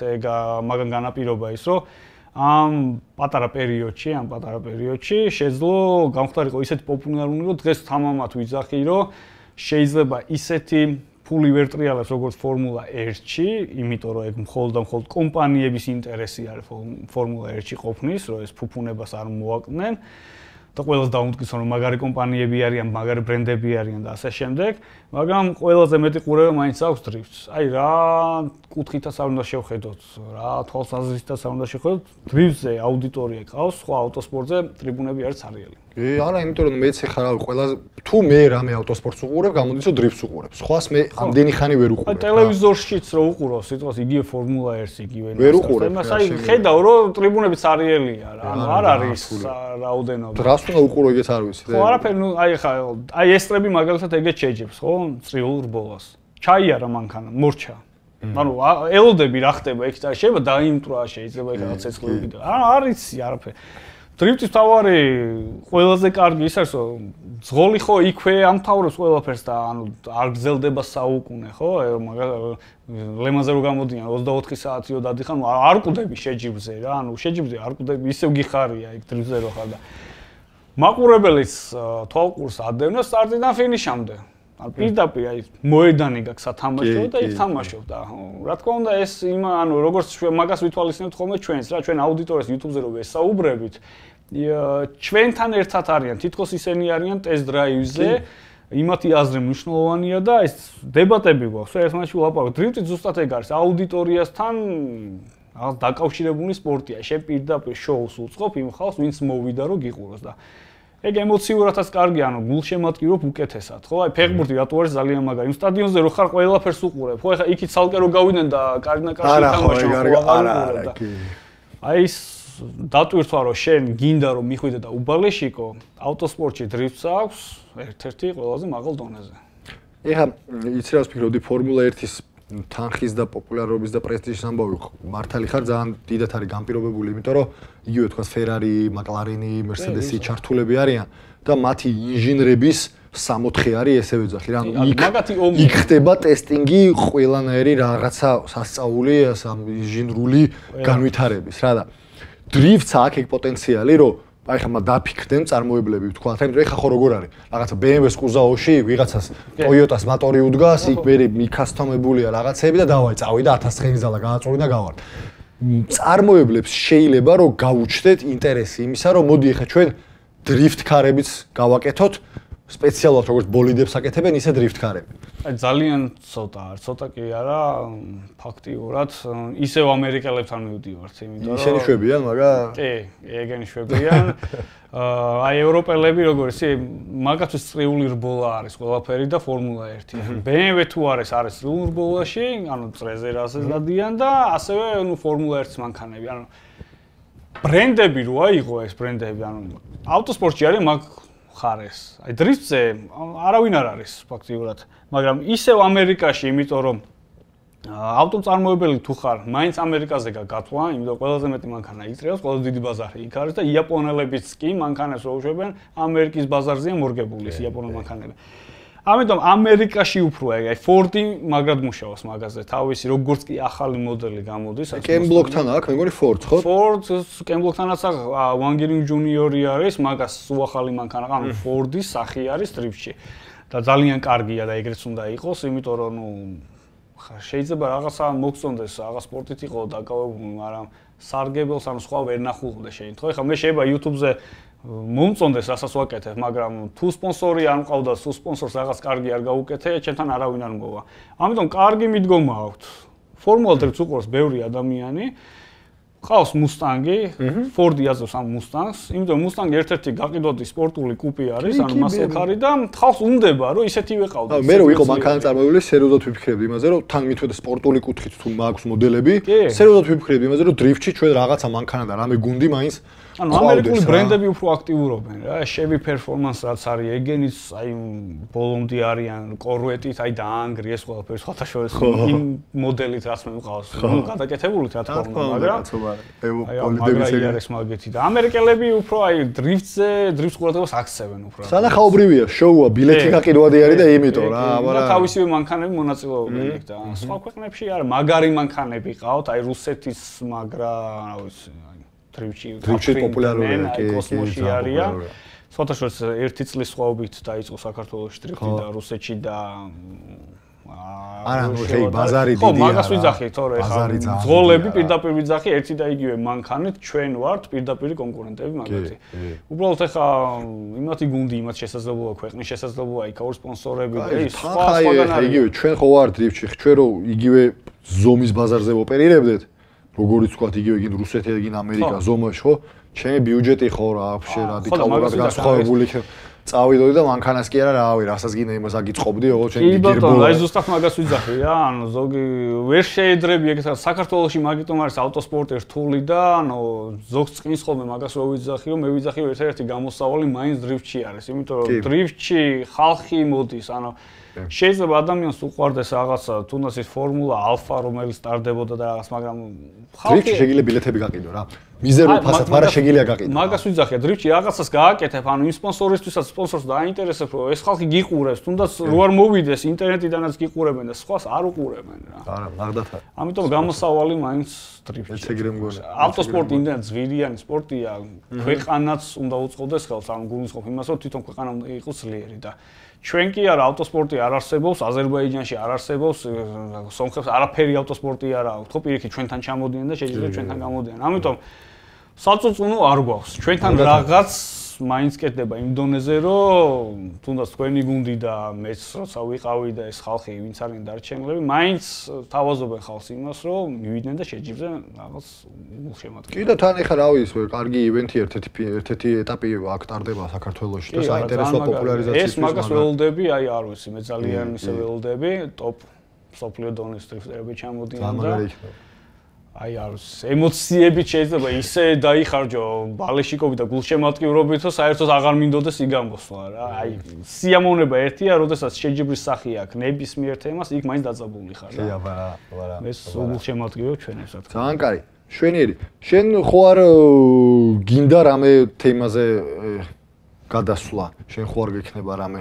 მაგან განაპირობა ის, რომ ამ პატარა პერიოდში შეძლო გამختارიყო ისეთი პოპულარული, რომ დღეს თამამად ვიძახი, რომ შეიძლება ისეთი ფული ვერ ტრიალებს როგორც ფორმულა 1-ში, იმიტომ რომ ეგ მხოლოდ და მხოლოდ კომპანიების ინტერესი არის ფორმულა 1-ში ყოფნის, რომ ეს ფუფუნებას არ მოაკდნენ. და ყველას დაუნტკიცონ რომ მაგარი კომპანიები არიან, მაგარი ბრენდები არიან და ასე შემდეგ, მაგრამ ყველაზე მეტი ყურება მაინც აქვს დრიფტს. აი რა კუთხითაც არ უნდა შევხედოთ, რა თვალსაზრისითაც არ უნდა შევხედოთ, დრიფტზე აუდიტორია ყავს, სხვა ავტოსპორტზე ტრიბუნები არის ცარიელი. არა, იმიტომ რომ მეც ეხლა რა ყველაზე თუ მე რამე ავტოსპორტს უყურებ, გამოდის რომ დრიფტს უყურებ. სხვას მე ამდენი ხანი ვერ უყურებ. აი ტელევიზორშიც რო უყურო, სიტყვას იგივე ფორმულა 1-ს იგივე ნასტას. აი ხედავ რომ ტრიბუნები ცარიელია რა, ანუ არ არის რაოდენობა. რას უნდა უყურო ეგეც არ ვიცი. ხო, არაფერი, ნუ აი ხა აი ესტრები მაგალითად ეგეც შეჯებს, ხო? წრიულ რბოლას. ჩაიარა მანქანა, მორჩა. ანუ ელოდები რა ხდება ეგ და შეიძლება დაიმტრა, შეიძლება ეგ რაღაც ცეცხლები და არის არაფერი. დრიფტის თავარი ყველაზე კარგი ის არის რომ ზღოლი ხო იქვე ამთავრებს ყველაფერს და ანუ არ გრძელდება საუკუნე ხო ლემაზე რო გამოდიან 24 საათიო დადიხარ არ კვდები შეჯიბრზე რა ანუ შეჯიბრზე არ კვდები ისევ გიხარია იქ დრიფტზე რო ხარ და მაყურებელიც თვალყურს ადევნებს სტარტიდან ფინიშამდე ანუ პირდაპირ აი მოედანი გაქვს სათამაშო და იქ თამაშობ და რა თქმა უნდა ეს ანუ როგორც მაგას ვითვალისწინებთ ხოლმე ჩვენს რა ჩვენ აუდიტორიას YouTube-ზე რო ვესაუბრებით ჩვენთან ერთად არიან თითქოს ისინი არიან ტესტ დრაივზე იმათი აზრი მნიშვნელოვანია და ეს დებატები გვაქვს ერთმანეთში ვლაპარაკობთ დრიფტი ზუსტად ეგ არის აუდიტორიასთან რაღაც დაკავშირებული სპორტია შენ პირდაპირ შოუს უწყობ იმ ხალხს ვინც მოვიდა რომ გიყუროს და ეგ ემოციურადაც კარგია, ანუ გულშემატკივრობ უკეთესად, ხო? აი ფეხბურთი რატო არის ძალიან მაგარი. იმ სტადიონზე რო ხარ ყველაფერს უყურებ, ხო? ეხა იქით ცალკე რო გავიდნენ და კარგნაკარში თამაშობ, არა, კი. აი ის დატვირთვა რომ შენ გინდა რომ მიხვიდე და უბალეშიკო, ავტოსპორტში დრიფტს აქვს ერთ-ერთი ყველაზე მაღალ დონეზე. ეხა იცი რა ვფიქრობდი ფორმულა 1-ის თანხის და პოპულარობის და პრესტიჟის ამბავი მართალი ხარ ძალიან დიდად არის განპირობებული, იმიტომ რომ იგივე თქვა Ferrari, McLaren, Mercedes ჩართულები არიან და მათი ინჟინრების 6-4 არის ესე ვეძახი რა. იქ ხდება ტესტინგი ყველანაირი რაღაცა სასწაული ამ ჟინრული განვითარების რა და დრიფტს აქვს ეგ პოტენციალი რომ აი ხა დაფიქრდნენ წარმოებლები ვთქვა, თუმცა ეხა ხო როგორ არის? რაღაცა BMW-ს კუზაოში ვიღაცას Toyota-ს მოტორი უდგას, იქ მე მიკასტომებულია რაღაცები და დავაი წავიდა 1000 ცხენი ზალა გააწოვი და გავარ. წარმოებლებს შეიძლება რომ გაუჩნდეთ ინტერესი იმისა, რომ მოდი ეხა ჩვენ დრიფტ კარებიც გავაკეთოთ, სპეციალურად როგორც ბოლიდებს აკეთებენ, ისე დრიფტ კარები. აი ძალიან ცოტა კი არა, ფაქტიურად ისევ ამერიკელებთან მივდივართ, იმიტომ რომ ისინი შვებიან, მაგრამ კი, ეგენი შვებიან. აი ევროპელები როგორ ისე მაგათთვის წრიული რბოლა არის ყველაფერი და ფორმულა 1. BMW თუ არის წრიულ რბოლაში, ანუ წრეზე რაზე დადიან და ასევე ნუ ფორმულა 1-ს მანქანები, ანუ ბრენდები როა იყო ეს ბრენდები, ანუ ავტოსპორტში არის მაგ ხარეს. აი დრიფტზე არავინ არ არის ფაქტიურად, მაგრამ ისევ ამერიკაში, იმიტომ რომ ავტომწარმოებელი თუ ხარ, მაინც ამერიკაზე გაგათვა, იმიტომ ყველაზე მეტი მანქანა იწყებს, ყველაზე დიდი ბაზარი იქ არის და იაპონელებიც კი მანქანას რო უშვებენ, ამერიკის ბაზარზეა მორგებული ეს იაპონელ მანქანები. ამიტომ ამერიკაში უფრო აი Ford-ი მაგრად მუშაობს მაგაზე, თავისი როგორც კი ახალი მოდელი გამოდის. კემბლოკთან აქვს, მე მგონი Ford, ხო? Ford კემბლოქთანაც აქვს, Wangerin Junior-ი არის, მაგას უახალი მანქანა, ანუ Ford-ის სახი არის დრიფტში. და ძალიან კარგია და ეგრეც უნდა იყოს, იმიტომ რომ ნუ შეიძლება რაღაცა მოგწონდეს, რაღაც სპორტით იყო დაკავებული, მაგრამ სარგებელს ანუ სხვა ვერ ნახულობდე შეიძლება. ეხლა მე შეიძლება YouTube-ზე მომწონდეს რასაც ვაკეთებ, მაგრამ თუ სპონსორი არ მყავდა, თუ სპონსორს რაღაც კარგი არ გაუკეთე, ჩემთან არავინ არ მოვა. ამიტომ კარგი მიდგომა აქვს. ფორმულა დრიფტს უყურებს ბევრი ადამიანი. ყავს Mustang-ი, Ford-ი აზრობს ამ Mustang-ს, იმიტომ რომ Mustang ერთ-ერთი გაყიდვადი სპორტული კუპი არის, ანუ მასელქარი და ხავს უნდება, რომ ისეთივე ყავდეს. მე რო ვიყო მანქანა წარმოებელი, სერიოზულად ვიფიქრებდი იმაზე, რომ თან მithვეთ სპორტული კუთხით თუ მაქვს მოდელები, სერიოზულად ვიფიქრებდი იმაზე, რომ დრიფტში ჩვენ რაღაცა მანქანა და რამე გუნდი მაინც ანუ ამერიკული ბრენდები უფრო აქტიურობენ რა, Chevy Performance რაც არის, ეგენიც აი ბოლომდე არიან, Corvette-ით აი დაანგრი ეს ყველაფერი სხვათა შორის იმ მოდელით რაც მე მყავს, ნუ გადაკეთებულით რა თქმა უნდა, მაგრამ ბოლიდების არის მაგეთი და ამერიკელები უფრო აი დრიფტს ყურადღებას აქცევენ უფრო. სანახაობრივია, შოუა, ბილეთი გაყიდვადი არის და იმიტომ რა, მაგრამ თავისივე მანქანები მონაწილეობენ იქ და სხვა ქვეყნებში არა, მაგარი მანქანები ყავთ, აი რუსეთის მაგრა, რა ვიცი დრიფტში პოპულარულია, კი, კოსმოსში არიან. სხვათა შორის ერთი წლის სხვაობით დაიწყო საქართველოში დრიფტი და რუსეთში და არა, ნუ ხეი ბაზარი დიდია. ხო, მაგას ვიძახი, თორე ხა ძღოლები პირდაპირ ვიძახი ერთი და იგივე მანქანით ჩვენ ვართ პირდაპირ კონკურენტები მაგათი. უბრალოდ ხა იმათი გუნდი, იმათ შესაძლებლობა ქვეყნის შესაძლებლობა იქ აქვს სპონსორები და ის სხვაგან არის. იგივე ჩვენ ხო ვართ დრიფტში, ჩვენ რო იგივე ზომის ბაზარზე ოპერირებდეთ. როგორიც ვთქვათ, იგივე გინ რუსეთი და გინ ამერიკა ზომაში ხო? ჩემი ბიუჯეტი ხო რა, вообще რადიკალურად განსხვავებული წავიდოდი და მანქანას კი არა, რავი, რასაც გინდა იმას აგიწყობდი, ოღონდ ჩემი გირბოლა. აი ზუსტად მაგას ვიძახი რა, ანუ ზოგი ვერ შეედრები ეგეც საქართველოში მაგიტომ არის ავტოსპორტი რთული და ანუ ზოგს წკნის ხოლმე მაგას რო ვიძახი, რომ მე ვიძახი რომ ერთ-ერთი გამოსავალი მაინც დრიფტში არის, იმიტომ რომ დრიფტში ხალხი მოდის, ანუ შეიძლება ადამიანს უყვარდეს რაღაცა, თუნდაც ის ფორმულა ალფა რომელიც სტარდებოდა და რაღაც, მაგრამ დრიფტში შეგიძლია ბილეთები გაყიდო რა. მიზერულ ფასად, მაგრამ შეგიძლია გაყიდო. მაგას ვიძახე, დრიფტში რაღაცას გააკეთებ, ანუ იმ სპონსორისთვისაც სპონსორს დააინტერესებს, რომ ეს ხალხი გიყურებს, თუნდაც რო არ მოვიდეს ინტერნეტიდანაც გიყურებენ და სხვას არ უყურებენ რა. არა, მაგდათ არის. ამიტომ გამოსავალი მაინც დრიფტში. ეს ეგრე მგონია. ავტოსპორტი იმდენად ზვირიანი სპორტია, ქვეყანაც უნდა უწყობდეს ხელს, ანუ გულისხმობ იმას, რომ თვითონ ქვეყანა უნდა იყოს ძლიერი და ჩვენ კი არა ავტოსპორტი არ არსებობს, აზერბაიჯანში არ არსებობს, სომხებს არაფერი ავტოსპორტი არ აქვს. ხო პირიქით ჩვენთან ჩამოდიან და შეიძლება ჩვენთან გამოდიან. ამიტომ საწუწუნო არ გვაქვს. ჩვენთან რაღაც მაინც კეთდება იმ დონეზე, რომ თუნდაც თქვენი გუნდი და მეც როცა ვიყავი და ეს ხალხი ვინც არიან დარჩენილები, მაინც თავაზობენ ხალხს იმას, რომ მივიდნენ და შეჯიბზე რაღაც გულშემატკივარი. კი და თან ეხა რა ვიცი, კარგი ივენთი ერთ-ერთი ეტაპი აქ ტარდება საქართველოში და საინტერესო პოპულარიზაციის ეს მაგას ველოდები, აი არ ვიცი, მე ძალიან ისე ველოდები, ტოპ სოფლიო დონის დრიფტერები ჩამოდიან და აი არის ემოციები შეიძლება ისე დაიხარჯო ბალეშიკობით და გულშემატკივრობით, რომ საერთოდ აღარ მინდოდეს იგამოსვლა რა. აი სიამოვნება ერთია, როდესაც შეჯიბრის სახე აქვს ნებისმიერ თემას, იქ მაინც დაძაბული ხარ რა. აბა. ეს გულშემატკივრო ჩვენებს რა თქმა უნდა. ძალიან კარი. შვენიერი. შენ ხო არ გინდა რამე თემაზე გადასვლა? შენ ხო არ გექნება რამე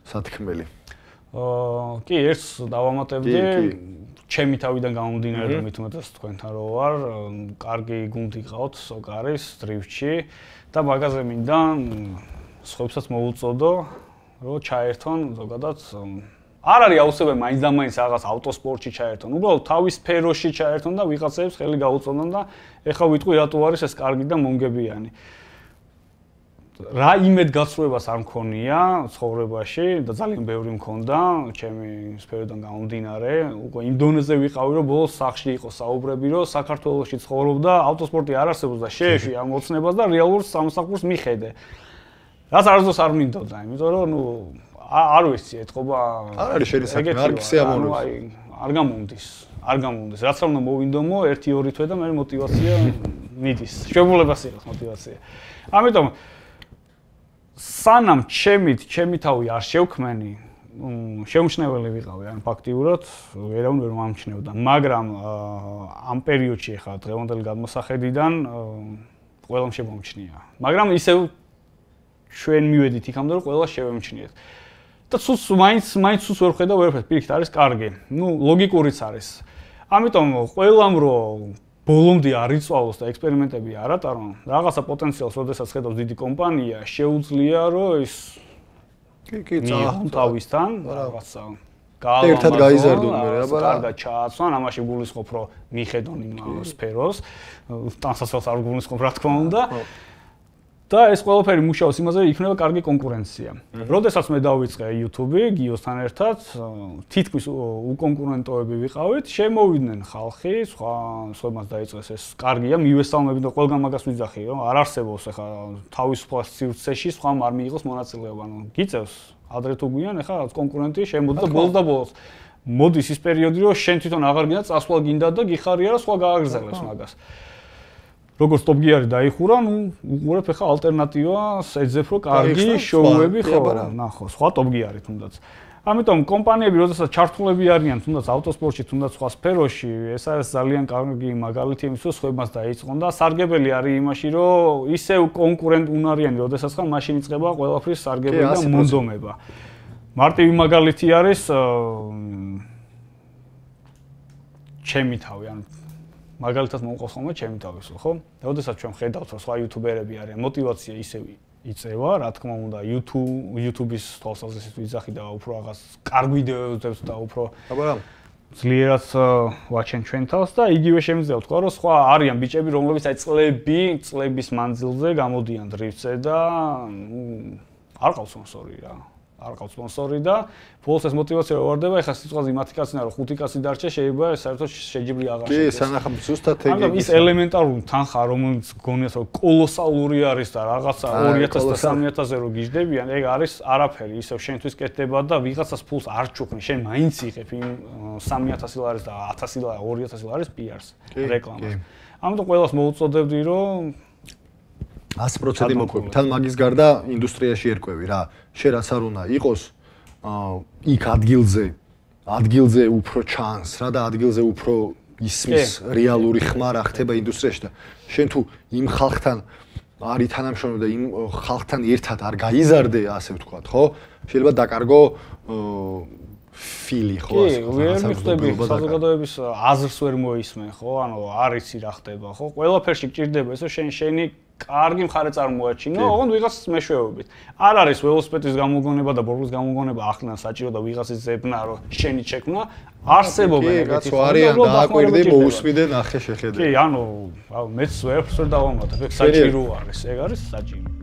სათქმელი. კი, ერთს დავამატებდი. ჩემი თავიდან გამომდინარე და მით უმეტეს თქვენთან რო ვარ, კარგი გუნდი ყავთ სოკარის დრიფტში და მაგაზე მინდა სხვებსაც მოუწოდო, რომ ჩაერთონ ზოგადად არ არის აუცილებელი მაინც და მაინც რაღაც ავტოსპორტში ჩაერთონ. უბრალოდ თავის სფეროში ჩაერთონ და ვიღაცებს ხელი გაუწოდონ და ეხლა ვიტყვი რატო არის ეს კარგი და მომგებიანი. რა იმედგაცრუებას არ მქონია ცხოვრებაში და ძალიან ბევრი მქონდა ჩემი სფეროდან გამომდინარე. უკვე იმ დონეზე ვიყავი, რომ ბოლოს სახში იყო საუბრები, რომ საქართველოში ცხოვრობდა, ავტოსპორტი არ არსებობს და შეეშვი ამ ოცნებას და რეალურ სამსახურს მიხედე. რაც არასდროს არ მინდოდა, იმიტომ რომ არ ვიცი, ეთყობა არ არის შენი საქმე, არ გისიამოვნებს. არ გამომდის. რაც რა უნდა მოვინდომო 1-2 თვე და მე мотиваცია მიდის. შვებულებას იყოს мотиваცია. ამიტომ სანამ ჩემი თავი არ შევქმენი, შეუმჩნეველი ვიყავი, ან ფაქტიურად ვერავინ ვერ მომჩნევდა, მაგრამ ამ პერიოდში ახლა დღევანდელი გადმოსახედიდან ყველამ შემომჩნია. მაგრამ ისევ ჩვენ მივედით იქამდე, რომ ყველა შევემჩნიეთ. და ცუც მაინც ცუც ვერ ხედავ ვერაფერს, პირიქით არის კარგი. ლოგიკურიც არის. ამიტომ ყველამ რომ ბოლომდე არ იწვალოს და ექსპერიმენტები არ ატარონ, რაღაცა პოტენციალს, როდესაც ხედავს დიდი კომპანია, შეუძლია რომ ის კი თავისთან რაღაცა ერთად გაიზარდონ მე რა, კარგად ჩააცვან, ამაში გულისხმობ რომ მიხედონ იმ სფეროს, თანასწორს არ გულისხმობ რა თქმა უნდა. და ეს ყველაფერი მუშაობს იმაზე, რომ იქნება კარგი კონკურენცია. როდესაც მე დავიწყე YouTube-ი გიოსთან ერთად, თითქმის უკონკურენტოები ვიყავით, შემოვიდნენ ხალხი, სხვებმაც დაიწყეს ეს კარგია, მივესალმებით და ყველგან მაგას ვიძახი, რომ არ არსებობს ახლა თავისუფალ სივრცეში სხვამ არ მიიღოს მონაწილეობა. გიწევს ადრე თუ გვიან, ახლა კონკურენტი შემოდის და ბოლოს და ბოლოს მოდის ის პერიოდი, რომ შენ თვითონ აღარ გინდა წასვლა გინდა და გიხარია რა სხვა გააგრძელებს მაგას. როგორც ტოპგიარი დაიხურა, უყურებ ახლა ალტერნატივას ეძებ რომ კარგი შოუები ხო, ნახო, სხვა ტოპგიარი თუნდაც. ამიტომ კომპანიები, როდესაც ჩართულები არიან თუნდაც ავტოსპორტში, თუნდაც სხვა სფეროში, ეს არის ძალიან კარგი მაგალითი იმის, რომ სხვებმაც დაიწყონ და სარგებელი არის იმაში, რომ ისევ კონკურენტ უნარიანი, როდესაც ხარ, მაშინ იწყება ყველაფრის სარგებელი და მონდომება. მარტივი მაგალითი არის ჩემი თავი, ანუ მაგალითად მომყავს ხოლმე ჩემი თავის, ხო? როდესაც ჩვენ ხედავთ, რომ სხვა იუთუბერები არიან, мотиваცია ისევ იწევა, რა თქმა უნდა, YouTube-ის თვალსაზრისით ვიძახი და უფრო რაღაც კარგ ვიდეოებს და უფრო ძლიერად ვაჩენ ჩვენ თავს და იგივე შემიძლია ვთქვა, რომ სხვა არიან ბიჭები, რომლებიც აი წლების მანძილზე გამოდიან დრიფტზე და არ ყავს სპონსორი რა. არ ყავს სპონსორი და ბოლოს ეს мотиваცია რო ვარდება, ეხლა სიტყვაზე მათი კაცნა რომ 5 კაცი დარჩა, შეიძლება საერთოდ შეჯიბრი აღარ შედეს. კი, სანახავ ზუსტად ეგ. მაგრამ ის ელემენტარული თანხა, რომელიც გონიათ რომ კოლოსალური არის და რაღაცა 2000 და 3000-ზე რო გიждდებიან, ეგ არის არაფერი, ისევ შენთვის კეთდება და ვიღაცას ფულს არ ჩუქნი, შენ მაინც იღებ იმ 3000 ლარის და 1000 ლარი, 2000 ლარის PR-ს, რეკლამას. ამიტომ ყველას მოუწოდებდი რომ 100% მოყვები. თან მაგის გარდა ინდუსტრიაში ერკვევი რა. შენ რაც არ უნდა იყოს იქ ადგილზე უფრო ჩანს რა და ადგილზე უფრო ისმის რეალური ხმა რა ხდება ინდუსტრიაში და შენ თუ იმ ხალხთან არის თანამშრომლობა და იმ ხალხთან ერთად არ გაიზარდე, ასე ვთქვათ, ხო? შეიძლება დაკარგო ფილი ხო ასე ვერ მიხვდები საზოგადოების აზრს ვერ მოისმენ ხო ანუ არ იცი რა ხდება ხო ყველაფერში გჭირდება ესე შენი კარგი მხარე წარმოაჩინო ოღონდ ვიღაცის მეშვეობით არ არის ველოსიპედის გამოგონება და ბორბლის გამოგონება ახლიდან საჭირო და ვიღაცის ზებნა რომ შენი შექმნა არსებობენ ეგეთი ხო არიან დააკვირდი მოусვიდე ნახე შეხედე კი ანუ მეც ვერაფერს ვერ დავამატებ ეგ საჭირო არის ეგ არის საჭირო